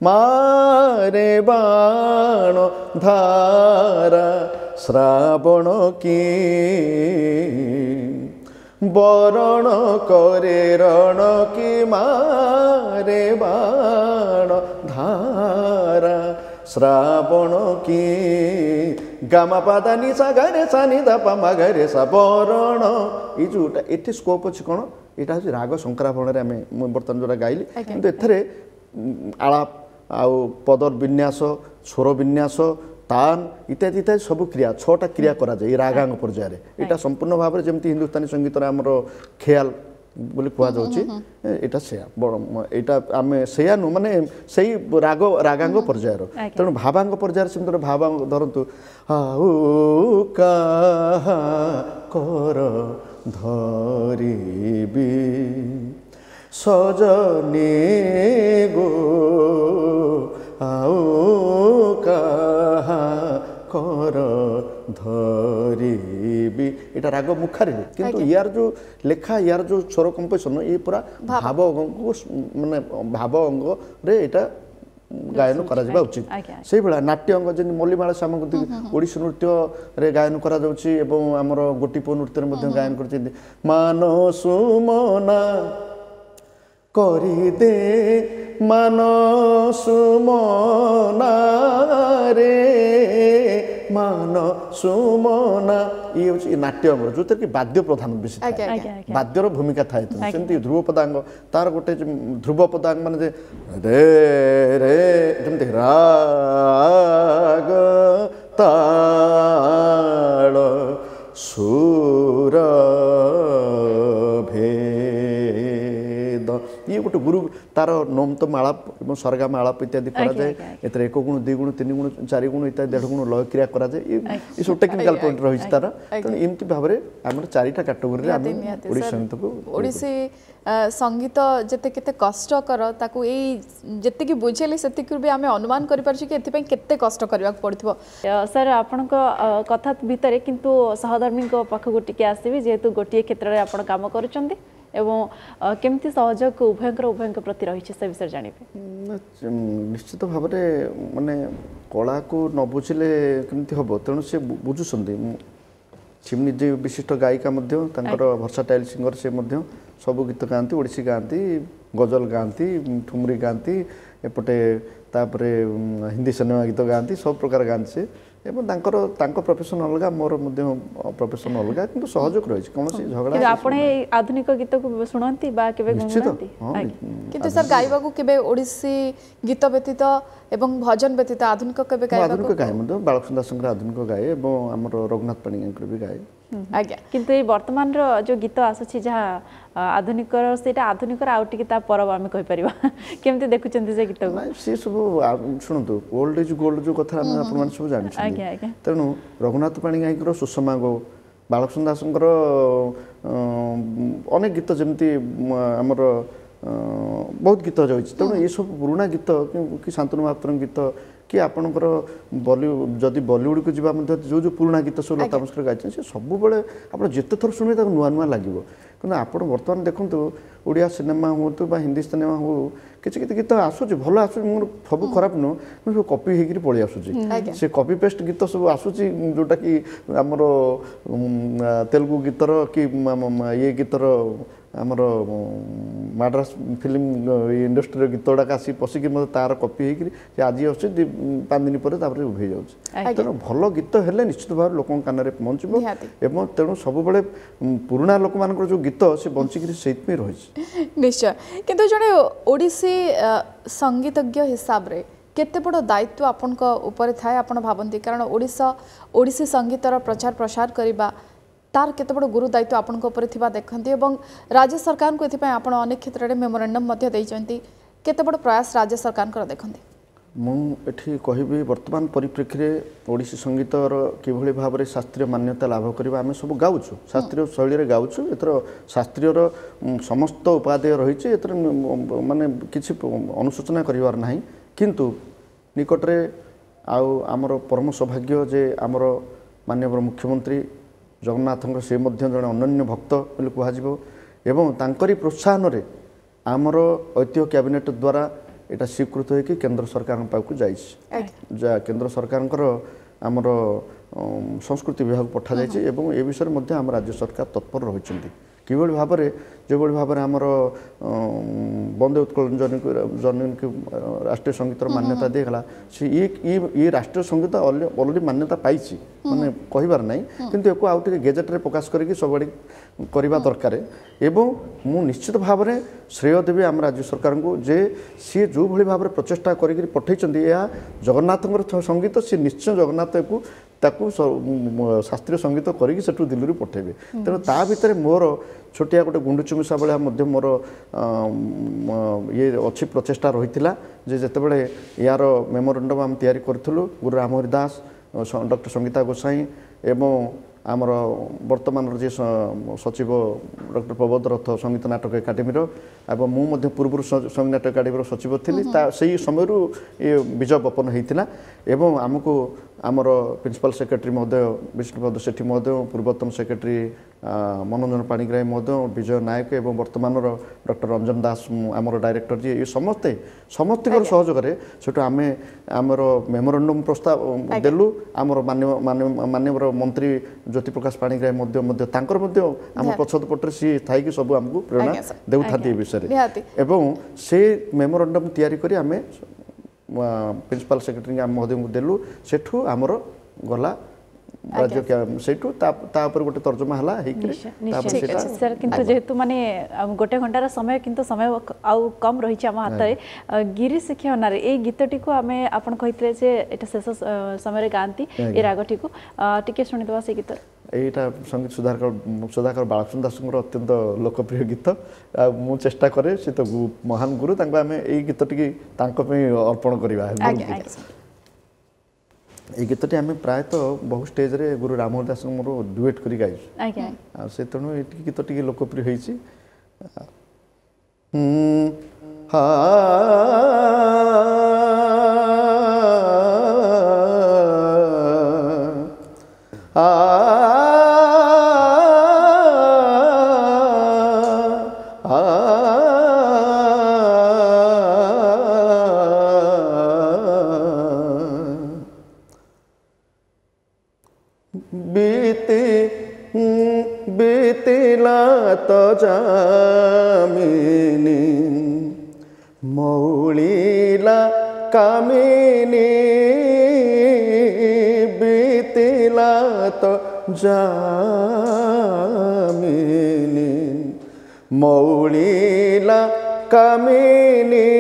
ମାରେ ବାଣ ଧାରା ଶ୍ରାବଣ କି ବରଣ କରେ ରଣ କି, ମାରେ ବାଣ ଧାରା ଶ୍ରାବଣ କି, ଗାମା ପାଦା ନି ସା ଗରେ ସା ନି ଦ ପ ମ ଗରେ ସା ବରଣ, ଏଇ ଯେଉଁଟା ଏଠି ସ୍କୋପ୍ ଅଛି କ'ଣ, ଏଇଟା ହେଉଛି ରାଗ ଶଙ୍କରାଭରଣରେ ଆମେ ମୁଁ ବର୍ତ୍ତମାନ ଯେଉଁଟା ଗାଇଲି, କିନ୍ତୁ ଏଥିରେ ଆଳାପ ଆଉ ପଦର ବିନ୍ୟାସ, ସ୍ୱର ବିନ୍ୟାସ, ତାନ ଇତ୍ୟାଦି ଇତ୍ୟାଦି ସବୁ କ୍ରିୟା, 6ଟା କ୍ରିୟା କରାଯାଏ ଏଇ ରାଗାଙ୍ଗ ପର୍ଯ୍ୟାୟରେ। ଏଇଟା ସମ୍ପୂର୍ଣ୍ଣ ଭାବରେ ଯେମିତି ହିନ୍ଦୁସ୍ତାନୀ ସଙ୍ଗୀତରେ ଆମର ଖେୟାଲ ବୋଲି କୁହାଯାଉଛି, ଏଇଟା ସେୟା, ଏଇଟା ଆମେ ସେୟା ନୁହଁ, ମାନେ ସେଇ ରାଗ ରାଗାଙ୍ଗ ପର୍ଯ୍ୟାୟର। ତେଣୁ ଭାବାଙ୍ଗ ପର୍ଯ୍ୟାୟରେ ସେମିତି ଗୋଟେ ଭାବାଙ୍ଗ ଧରନ୍ତୁ, ଆଉ କାହା କର ଧରିବି ସଜନି ଗୋ, ଆଉ କାହା କର ଧରିବି, ଏଇଟା ରାଗ ମୁଖାରିରେ, କିନ୍ତୁ ୟାର ଯେଉଁ ଲେଖା, ୟାର ଯେଉଁ ସ୍ୱର କମ୍ପୋଜିସନ୍, ଇଏ ପୁରା ଭାବ ଅଙ୍ଗକୁ, ମାନେ ଭାବ ଅଙ୍ଗରେ ଏଇଟା ଗାୟନ କରାଯିବା ଉଚିତ। ସେଇଭଳିଆ ନାଟ୍ୟ ଅଙ୍ଗ ଯେମିତି ମଲ୍ଲିମାଳ ଶ୍ୟାମଙ୍କୁ ଓଡ଼ିଶୀ ନୃତ୍ୟରେ ଗାୟନ କରାଯାଉଛି ଏବଂ ଆମର ଗୋଟିପୁଅ ନୃତ୍ୟରେ ମଧ୍ୟ ଗାୟନ କରିଛନ୍ତି। ମାନ ସୁମନା କରିଦେ ମାନ ସୁମନା ରେ ମାନ ସୁମନା, ଇଏ ହେଉଛି ନାଟ୍ୟ ଅଙ୍ଗର, ଯେଉଁଥିରେ କି ବାଦ୍ୟ ପ୍ରଧାନ ବେଶୀ ଥାଏ, ବାଦ୍ୟର ଭୂମିକା ଥାଏ। ସେମିତି ଧ୍ରୁବପଦାଙ୍ଗ ତାର ଗୋଟେ ଧ୍ରୁବପଦାଙ୍ଗ ମାନେ ଯେ ରେ ରେ, ଯେମିତି ରାଗ ତାଳ ସୁର ଭେଦ, ଇଏ ଗୋଟେ ଗୁରୁ ତାର ନୋମ ତ ମାଳା ଏବଂ ସରଗାମ ଆଳାପ ଇତ୍ୟାଦି କରାଯାଏ। ଏଥିରେ 1 ଗୁଣ, 2 ଗୁଣ, 3 ଗୁଣ, 4 ଗୁଣ ଇତ୍ୟାଦି, 1.5 ଗୁଣ ଲୟ କ୍ରିୟା କରାଯାଏ। ଏସବୁ ଟେକ୍ନିକାଲ ପଏଣ୍ଟ ରହିଛି ତାର। ତେଣୁ ଏମିତି ଭାବରେ ଆମର 4ଟା କାଟେଗୋରୀରେ ଆମେ ଓଡ଼ିଶୀ ସଙ୍ଗୀତକୁ। ଓଡ଼ିଶୀ ସଙ୍ଗୀତ ଯେତେ କେତେ କଷ୍ଟକର, ତାକୁ ଏଇ ଯେତିକି ବୁଝେଇଲେ ସେତିକିରୁ ବି ଆମେ ଅନୁମାନ କରିପାରୁଛୁ କି ଏଥିପାଇଁ କେତେ କଷ୍ଟ କରିବାକୁ ପଡ଼ିଥିବ। ସାର୍, ଆପଣଙ୍କ କଥା ଭିତରେ କିନ୍ତୁ ସହଧର୍ମୀଙ୍କ ପାଖକୁ ଟିକେ ଆସିବି, ଯେହେତୁ ଗୋଟିଏ କ୍ଷେତ୍ରରେ ଆପଣ କାମ କରୁଛନ୍ତି, ଏବଂ କେମିତି ସହଯୋଗ ଉଭୟଙ୍କର ଉଭୟଙ୍କ ପ୍ରତି ରହିଛି ସେ ବିଷୟରେ ଜାଣିବେ। ନିଶ୍ଚିତ ଭାବରେ ମାନେ କଳାକୁ ନ ବୁଝିଲେ କେମିତି ହେବ, ତେଣୁ ସେ ବୁଝୁଛନ୍ତି। ସେ ନିଜେ ବିଶିଷ୍ଟ ଗାୟିକା ମଧ୍ୟ, ତାଙ୍କର ଭର୍ସାଟାଇଲ୍ ସିଙ୍ଗର, ସେ ମଧ୍ୟ ସବୁ ଗୀତ ଗାଆନ୍ତି, ଓଡ଼ିଶୀ ଗାଆନ୍ତି, ଗଜଲ ଗାଆନ୍ତି, ଠୁମରି ଗାଆନ୍ତି, ଏପଟେ ତାପରେ ହିନ୍ଦୀ ସିନେମା ଗୀତ ଗାଆନ୍ତି, ସବୁ ପ୍ରକାର ଗାଆନ୍ତି ସେ। ଏବଂ ତାଙ୍କର ତାଙ୍କ ପ୍ରଫେସନ୍ ଅଲଗା, ମୋର ମଧ୍ୟ ପ୍ରଫେସନ୍ ଅଲଗା, କିନ୍ତୁ ସହଯୋଗ ରହିଛି, କୌଣସି ଝଗଡ଼ା। ଆପଣ ଏଇ ଆଧୁନିକ ଗୀତକୁ ଶୁଣନ୍ତି ବା କେବେ? ନିଶ୍ଚିତ। କିନ୍ତୁ ସାର୍, ଗାଇବାକୁ କେବେ ଓଡ଼ିଶୀ ଗୀତ ବ୍ୟତୀତ ଏବଂ ଭଜନ ବ୍ୟତୀତ ଆଧୁନିକ କେବେ ଗାଇବାକୁ? ଆଧୁନିକ ଗାଏ ମଧ୍ୟ, ବାଳକୃଷ୍ଣ ଦାସଙ୍କର ଆଧୁନିକ ଗାଏ ଏବଂ ଆମର ରଘୁନାଥ ପାଣିଙ୍କର ବି ଗାଏ। ଆଜ୍ଞା। କିନ୍ତୁ ଏଇ ବର୍ତ୍ତମାନର ଯେଉଁ ଗୀତ ଆସୁଛି ଯାହା ଆଧୁନିକର, ସେଇଟା ଆଧୁନିକର ଆଉ ଟିକେ ତା ପରବ ଆମେ କହିପାରିବା, କେମିତି ଦେଖୁଛନ୍ତି ସେ ଗୀତକୁ? ସେ ସବୁ ଶୁଣନ୍ତୁ, ଓଲ୍ଡ is gold ଯେଉଁ କଥା ଆମେ ଆପଣମାନେ ସବୁ ଜାଣିଛନ୍ତି। ତେଣୁ ରଘୁନାଥ ପାଣିଗ୍ରାହୀଙ୍କର ସୁଷମା ଗୋ, ବାଳକୃଷ୍ଣ ଦାସଙ୍କର ଅନେକ ଗୀତ, ଯେମିତି ଆମର ବହୁତ ଗୀତ ରହିଛି। ତେଣୁ ଏସବୁ ପୁରୁଣା ଗୀତ କି ଶାନ୍ତନୁ ମହାପାତ୍ରଙ୍କ ଗୀତ କି ଆପଣଙ୍କର ଯଦି ବଲିଉଡ଼କୁ ଯିବା ମଧ୍ୟ, ଯେଉଁ ଯେଉଁ ପୁରୁଣା ଗୀତ ସବୁ ଲତା ମଙ୍ଗେଶକର ଗାଇଛନ୍ତି, ସେ ସବୁବେଳେ ଆପଣ ଯେତେ ଥର ଶୁଣିବେ ତାକୁ ନୂଆ ନୂଆ ଲାଗିବ। କିନ୍ତୁ ଆପଣ ବର୍ତ୍ତମାନ ଦେଖନ୍ତୁ, ଓଡ଼ିଆ ସିନେମା ହୁଅନ୍ତୁ ବା ହିନ୍ଦୀ ସିନେମା ହଉ, କିଛି କିଛି ଗୀତ ଆସୁଛି, ଭଲ ଆସୁଛି, ମୋର ସବୁ ଖରାପ ନୁହଁ, କିନ୍ତୁ ସବୁ କପି ହେଇକିରି ପଳେଇ ଆସୁଛି। ସେ କପି ପେଷ୍ଟ ଗୀତ ସବୁ ଆସୁଛି, ଯେଉଁଟାକି ଆମର ତେଲୁଗୁ ଗୀତର କି ଇଏ ଗୀତର, ଆମର ମାଡ୍ରାସ ଫିଲ୍ମ ଇଣ୍ଡଷ୍ଟ୍ରିର ଗୀତ ଗୁଡ଼ାକ ଆସି ପଶିକି ମଧ୍ୟ ତାର କପି ହେଇକିରି ସେ ଆଜି ଆସୁଛି, 2 5 ଦିନ ପରେ ତାପରେ ଉଭେଇ ଯାଉଛି। ତେଣୁ ଭଲ ଗୀତ ହେଲେ ନିଶ୍ଚିତ ଭାବରେ ଲୋକଙ୍କ କାନରେ ପହଞ୍ଚିବ, ଏବଂ ତେଣୁ ସବୁବେଳେ ପୁରୁଣା ଲୋକମାନଙ୍କର ଯେଉଁ ଗୀତ ସେ ବଞ୍ଚିକିରି ସେଇଥିପାଇଁ ରହିଛି। ନିଶ୍ଚୟ। କିନ୍ତୁ ଜଣେ ଓଡ଼ିଶୀ ସଙ୍ଗୀତଜ୍ଞ ହିସାବରେ କେତେ ବଡ଼ ଦାୟିତ୍ୱ ଆପଣଙ୍କ ଉପରେ ଥାଏ ଆପଣ ଭାବନ୍ତି? କାରଣ ଓଡ଼ିଶା ଓଡ଼ିଶୀ ସଙ୍ଗୀତର ପ୍ରଚାର ପ୍ରସାର କରିବା ତାର କେତେ ବଡ଼ ଗୁରୁ ଦାୟିତ୍ୱ ଆପଣଙ୍କ ଉପରେ ଥିବା ଦେଖନ୍ତି, ଏବଂ ରାଜ୍ୟ ସରକାରଙ୍କୁ ଏଥିପାଇଁ ଆପଣ ଅନେକ କ୍ଷେତ୍ରରେ ମେମୋରାଣ୍ଡମ୍ ମଧ୍ୟ ଦେଇଛନ୍ତି, କେତେ ବଡ଼ ପ୍ରୟାସ ରାଜ୍ୟ ସରକାରଙ୍କର ଦେଖନ୍ତି? ମୁଁ ଏଠି କହିବି, ବର୍ତ୍ତମାନ ପରିପ୍ରେକ୍ଷୀରେ ଓଡ଼ିଶୀ ସଙ୍ଗୀତର କିଭଳି ଭାବରେ ଶାସ୍ତ୍ରୀୟ ମାନ୍ୟତା ଲାଭ କରିବା, ଆମେ ସବୁ ଗାଉଛୁ, ଶାସ୍ତ୍ରୀୟ ଶୈଳୀରେ ଗାଉଛୁ। ଏଥର ଶାସ୍ତ୍ରୀୟର ସମସ୍ତ ଉପାଦେୟ ରହିଛି, ଏଥିରେ ମାନେ କିଛି ଅନୁଶୋଚନା କରିବାର ନାହିଁ। କିନ୍ତୁ ନିକଟରେ ଆଉ ଆମର ପରମ ସୌଭାଗ୍ୟ ଯେ ଆମର ମାନ୍ୟବର ମୁଖ୍ୟମନ୍ତ୍ରୀ ଜଗନ୍ନାଥଙ୍କ ସେ ମଧ୍ୟ ଜଣେ ଅନନ୍ୟ ଭକ୍ତ ବୋଲି କୁହାଯିବ, ଏବଂ ତାଙ୍କରି ପ୍ରୋତ୍ସାହନରେ ଆମର ଐତିହ୍ୟ କ୍ୟାବିନେଟ୍ ଦ୍ୱାରା ଏଇଟା ସ୍ୱୀକୃତ ହୋଇକି କେନ୍ଦ୍ର ସରକାରଙ୍କ ପାଖକୁ ଯାଇଛି, ଯାହା କେନ୍ଦ୍ର ସରକାରଙ୍କର ଆମର ସଂସ୍କୃତି ବିଭାଗ ପଠାଯାଇଛି। ଏବଂ ଏ ବିଷୟରେ ମଧ୍ୟ ଆମ ରାଜ୍ୟ ସରକାର ତତ୍ପର ରହିଛନ୍ତି, କିଭଳି ଭାବରେ ଯେଭଳି ଭାବରେ ଆମର ବନ୍ଦେ ଉତ୍କଳ ଜନନୀକୁ ରାଷ୍ଟ୍ରୀୟ ସଙ୍ଗୀତର ମାନ୍ୟତା ଦିଆଗଲା, ସେ ଇଏ ରାଷ୍ଟ୍ରୀୟ ସଙ୍ଗୀତ ଅଲରେଡ଼ି ମାନ୍ୟତା ପାଇଛି, ମାନେ କହିବାର ନାହିଁ, କିନ୍ତୁ ୟାକୁ ଆଉ ଟିକେ ଗେଜେଟ୍ରେ ପ୍ରକାଶ କରିକି ସବୁଆଡ଼େ କରିବା ଦରକାର। ଏବଂ ମୁଁ ନିଶ୍ଚିତ ଭାବରେ ଶ୍ରେୟ ଦେବି ଆମ ରାଜ୍ୟ ସରକାରଙ୍କୁ ଯେ ସିଏ ଯେଉଁଭଳି ଭାବରେ ପ୍ରଚେଷ୍ଟା କରିକିରି ପଠାଇଛନ୍ତି, ଏହା ଜଗନ୍ନାଥଙ୍କର ସଙ୍ଗୀତ, ସିଏ ନିଶ୍ଚୟ ଜଗନ୍ନାଥକୁ ତାକୁ ଶାସ୍ତ୍ରୀୟ ସଙ୍ଗୀତ କରିକି ସେଠୁ ଦିଲ୍ଲୀରୁ ପଠାଇବେ। ତେଣୁ ତା ଭିତରେ ମୋର ଛୋଟିଆ ଗୋଟେ ଗୁଣ୍ଡୁଚି ମୂଷା ଭଳିଆ ମଧ୍ୟ ମୋର ଇଏ ଅଛି, ପ୍ରଚେଷ୍ଟା ରହିଥିଲା ଯେ ଯେତେବେଳେ ୟାର ମେମୋରାଣ୍ଡମ୍ ଆମେ ତିଆରି କରୁଥିଲୁ, ଗୁରୁ ରାମହରି ଦାସ, ଡକ୍ଟର ସଙ୍ଗୀତା ଗୋସାଇଁ ଏବଂ ଆମର ବର୍ତ୍ତମାନର ଯିଏ ସଚିବ ଡକ୍ଟର ପ୍ରବୋଧ ରଥ ସଙ୍ଗୀତ ନାଟକ ଏକାଡେମୀର, ଏବଂ ମୁଁ ମଧ୍ୟ ପୂର୍ବରୁ ସଙ୍ଗୀତ ନାଟକ ଏକାଡେମୀର ସଚିବ ଥିଲି, ତା ସେଇ ସମୟରୁ ଏ ବୀଜ ବପନ ହେଇଥିଲା। ଏବଂ ଆମକୁ ଆମର ପ୍ରିନ୍ସିପାଲ ସେକ୍ରେଟାରୀ ମହୋଦୟ ବିଷ୍ଣୁପଦ ସେଠୀ ମହୋଦୟ, ପୂର୍ବତନ ସେକ୍ରେଟାରୀ ମନୋରଞ୍ଜନ ପାଣିଗ୍ରାହୀ ମହୋଦୟ, ବିଜୟ ନାୟକ ଏବଂ ବର୍ତ୍ତମାନର ଡକ୍ଟର ରଞ୍ଜନ ଦାସ ଆମର ଡାଇରେକ୍ଟର ଯିଏ, ଏ ସମସ୍ତେ ସମସ୍ତଙ୍କର ସହଯୋଗରେ ସେଠୁ ଆମେ ଆମର ମେମୋରାଣ୍ଡମ୍ ପ୍ରସ୍ତାବ ଦେଲୁ। ଆମର ମାନ୍ୟବର ମନ୍ତ୍ରୀ ଜ୍ୟୋତିପ୍ରକାଶ ପାଣିଗ୍ରାହୀ ମଧ୍ୟ ତାଙ୍କର ମଧ୍ୟ ଆମ ପଛଦ ପଟରେ ସିଏ ଥାଇକି ସବୁ ଆମକୁ ପ୍ରେରଣା ଦେଉଥାନ୍ତି ଏ ବିଷୟରେ। ଏବଂ ସେ ମେମୋରାଣ୍ଡମ୍ ତିଆରି କରି ଆମେ ପ୍ରିନ୍ସିପାଲ ସେକ୍ରେଟାରୀ ଆମ ମହୋଦୟଙ୍କୁ ଦେଲୁ। ସେଠୁ ଆମର ଗଲା ରାଜ୍ୟ, ସେଇଠୁ ତା ଉପରେ ଗୋଟେ ତର୍ଜମା ହେଲା ହେଇକରି। ସାର୍, କିନ୍ତୁ ଯେହେତୁ ମାନେ ଗୋଟେ ଘଣ୍ଟାର ସମୟ, କିନ୍ତୁ ସମୟ ଆଉ କମ୍ ରହିଛି ଆମ ହାତରେ, ଗିରି ଶିକ୍ଷା ନାରେ ଏଇ ଗୀତଟିକୁ ଆମେ, ଆପଣ କହିଥିଲେ ଯେ ଏଇଟା ଶେଷ ସମୟରେ ଗାଆନ୍ତି ଏ ରାଗଟିକୁ, ଟିକେ ଶୁଣିଦେବା ସେଇ ଗୀତ। ଏଇଟା ସଙ୍ଗୀତ ସୁଧାକର ବାଳକୃଷ୍ଣ ଦାସଙ୍କର ଅତ୍ୟନ୍ତ ଲୋକପ୍ରିୟ ଗୀତ। ଆଉ ମୁଁ ଚେଷ୍ଟା କରେ, ସେ ତ ମହାନ ଗୁରୁ, ତାଙ୍କୁ ଆମେ ଏଇ ଗୀତଟିକି ତାଙ୍କ ପାଇଁ ଅର୍ପଣ କରିବା। ଏଇ ଗୀତଟି ଆମେ ପ୍ରାୟତଃ ବହୁ ଷ୍ଟେଜରେ ଗୁରୁ ରାମହରି ଦାସଙ୍କ ମୋର ଡୁଏଟ୍ କରି ଗାଇଛୁ, ଆଉ ସେ ତେଣୁ ଏ ଗୀତ ଟିକେ ଲୋକପ୍ରିୟ ହେଇଛି। ହା ବିତିଲା ତ ଜାମିନୀ ମଉଳିଲା କାମିନୀ, ବିତିଲା ତ ଜାମିନୀ ମଉଳିଲା କାମିନୀ,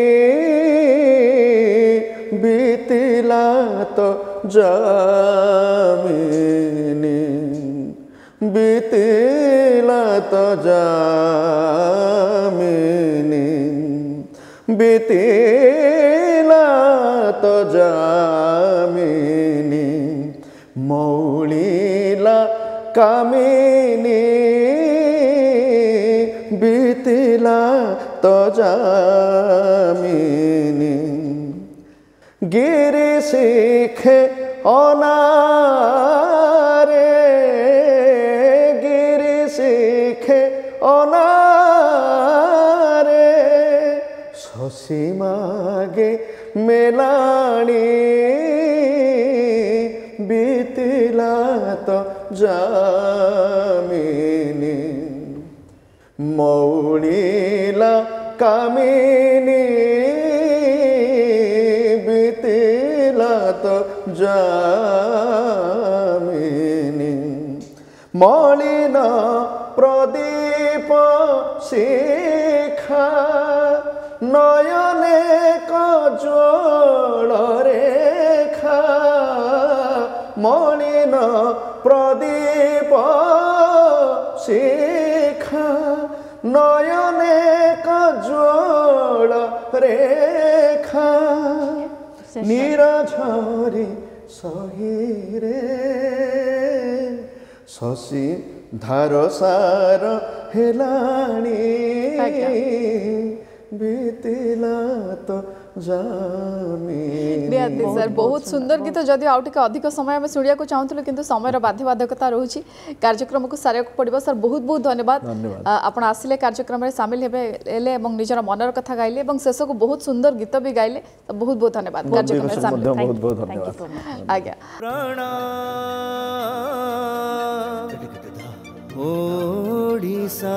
ବିତିଲା ତ ଜାମିନୀ, ବିତିଲା ତ ଜାମିନୀ, ବିତିଲା ତ ଜାମିନୀ ମଉଳିଲା କାମିନୀ, ବିତିଲା ତ ଜାମିନୀ। ଗିରି ଶିଖେ ଅନାରେ, ଗିରି ଶିଖେ ଅନାରେ, ଶଶୀ ମାଗେ ମେଲାଣି, ବିତିଲା ତ ଜାମିନୀ ମଉଳିଲା କାମିନୀ, ବିତିଲା ତ ଜାମିନୀ। ମଳିନ ପ୍ରଦୀପ ଶିଖା ନୟନେ କଜ୍ୱଳ ରେଖା, ମଳିନ ପ୍ରଦୀପ ଶିଖା ନୟନେ କଜ୍ୱଳ ରେଖା। ନୀର ଝରି ସହିରେ ଶଶୀ ଧାର ସାର ହେଲାଣି, ବିତିଲା ତ ଜାମି। ନିହାତି ସାର୍, ବହୁତ ସୁନ୍ଦର ଗୀତ। ଯଦି ଆଉ ଟିକେ ଅଧିକ ସମୟ ଆମେ ଶୁଣିବାକୁ ଚାହୁଁଥିଲୁ, କିନ୍ତୁ ସମୟର ବାଧ୍ୟବାଧକତା ରହୁଛି, କାର୍ଯ୍ୟକ୍ରମକୁ ସାରିବାକୁ ପଡ଼ିବ। ସାର୍, ବହୁତ ବହୁତ ଧନ୍ୟବାଦ, ଆପଣ ଆସିଲେ, କାର୍ଯ୍ୟକ୍ରମରେ ସାମିଲ ହେବେ ହେଲେ ଏବଂ ନିଜର ମନର କଥା ଗାଇଲେ ଏବଂ ଶେଷକୁ ବହୁତ ସୁନ୍ଦର ଗୀତ ବି ଗାଇଲେ। ବହୁତ ବହୁତ ଧନ୍ୟବାଦ କାର୍ଯ୍ୟକ୍ରମରେ ସାମିଲ। ବହୁତ ବହୁତ ଧନ୍ୟବାଦ ଆଜ୍ଞା। ଓଡ଼ିଶା।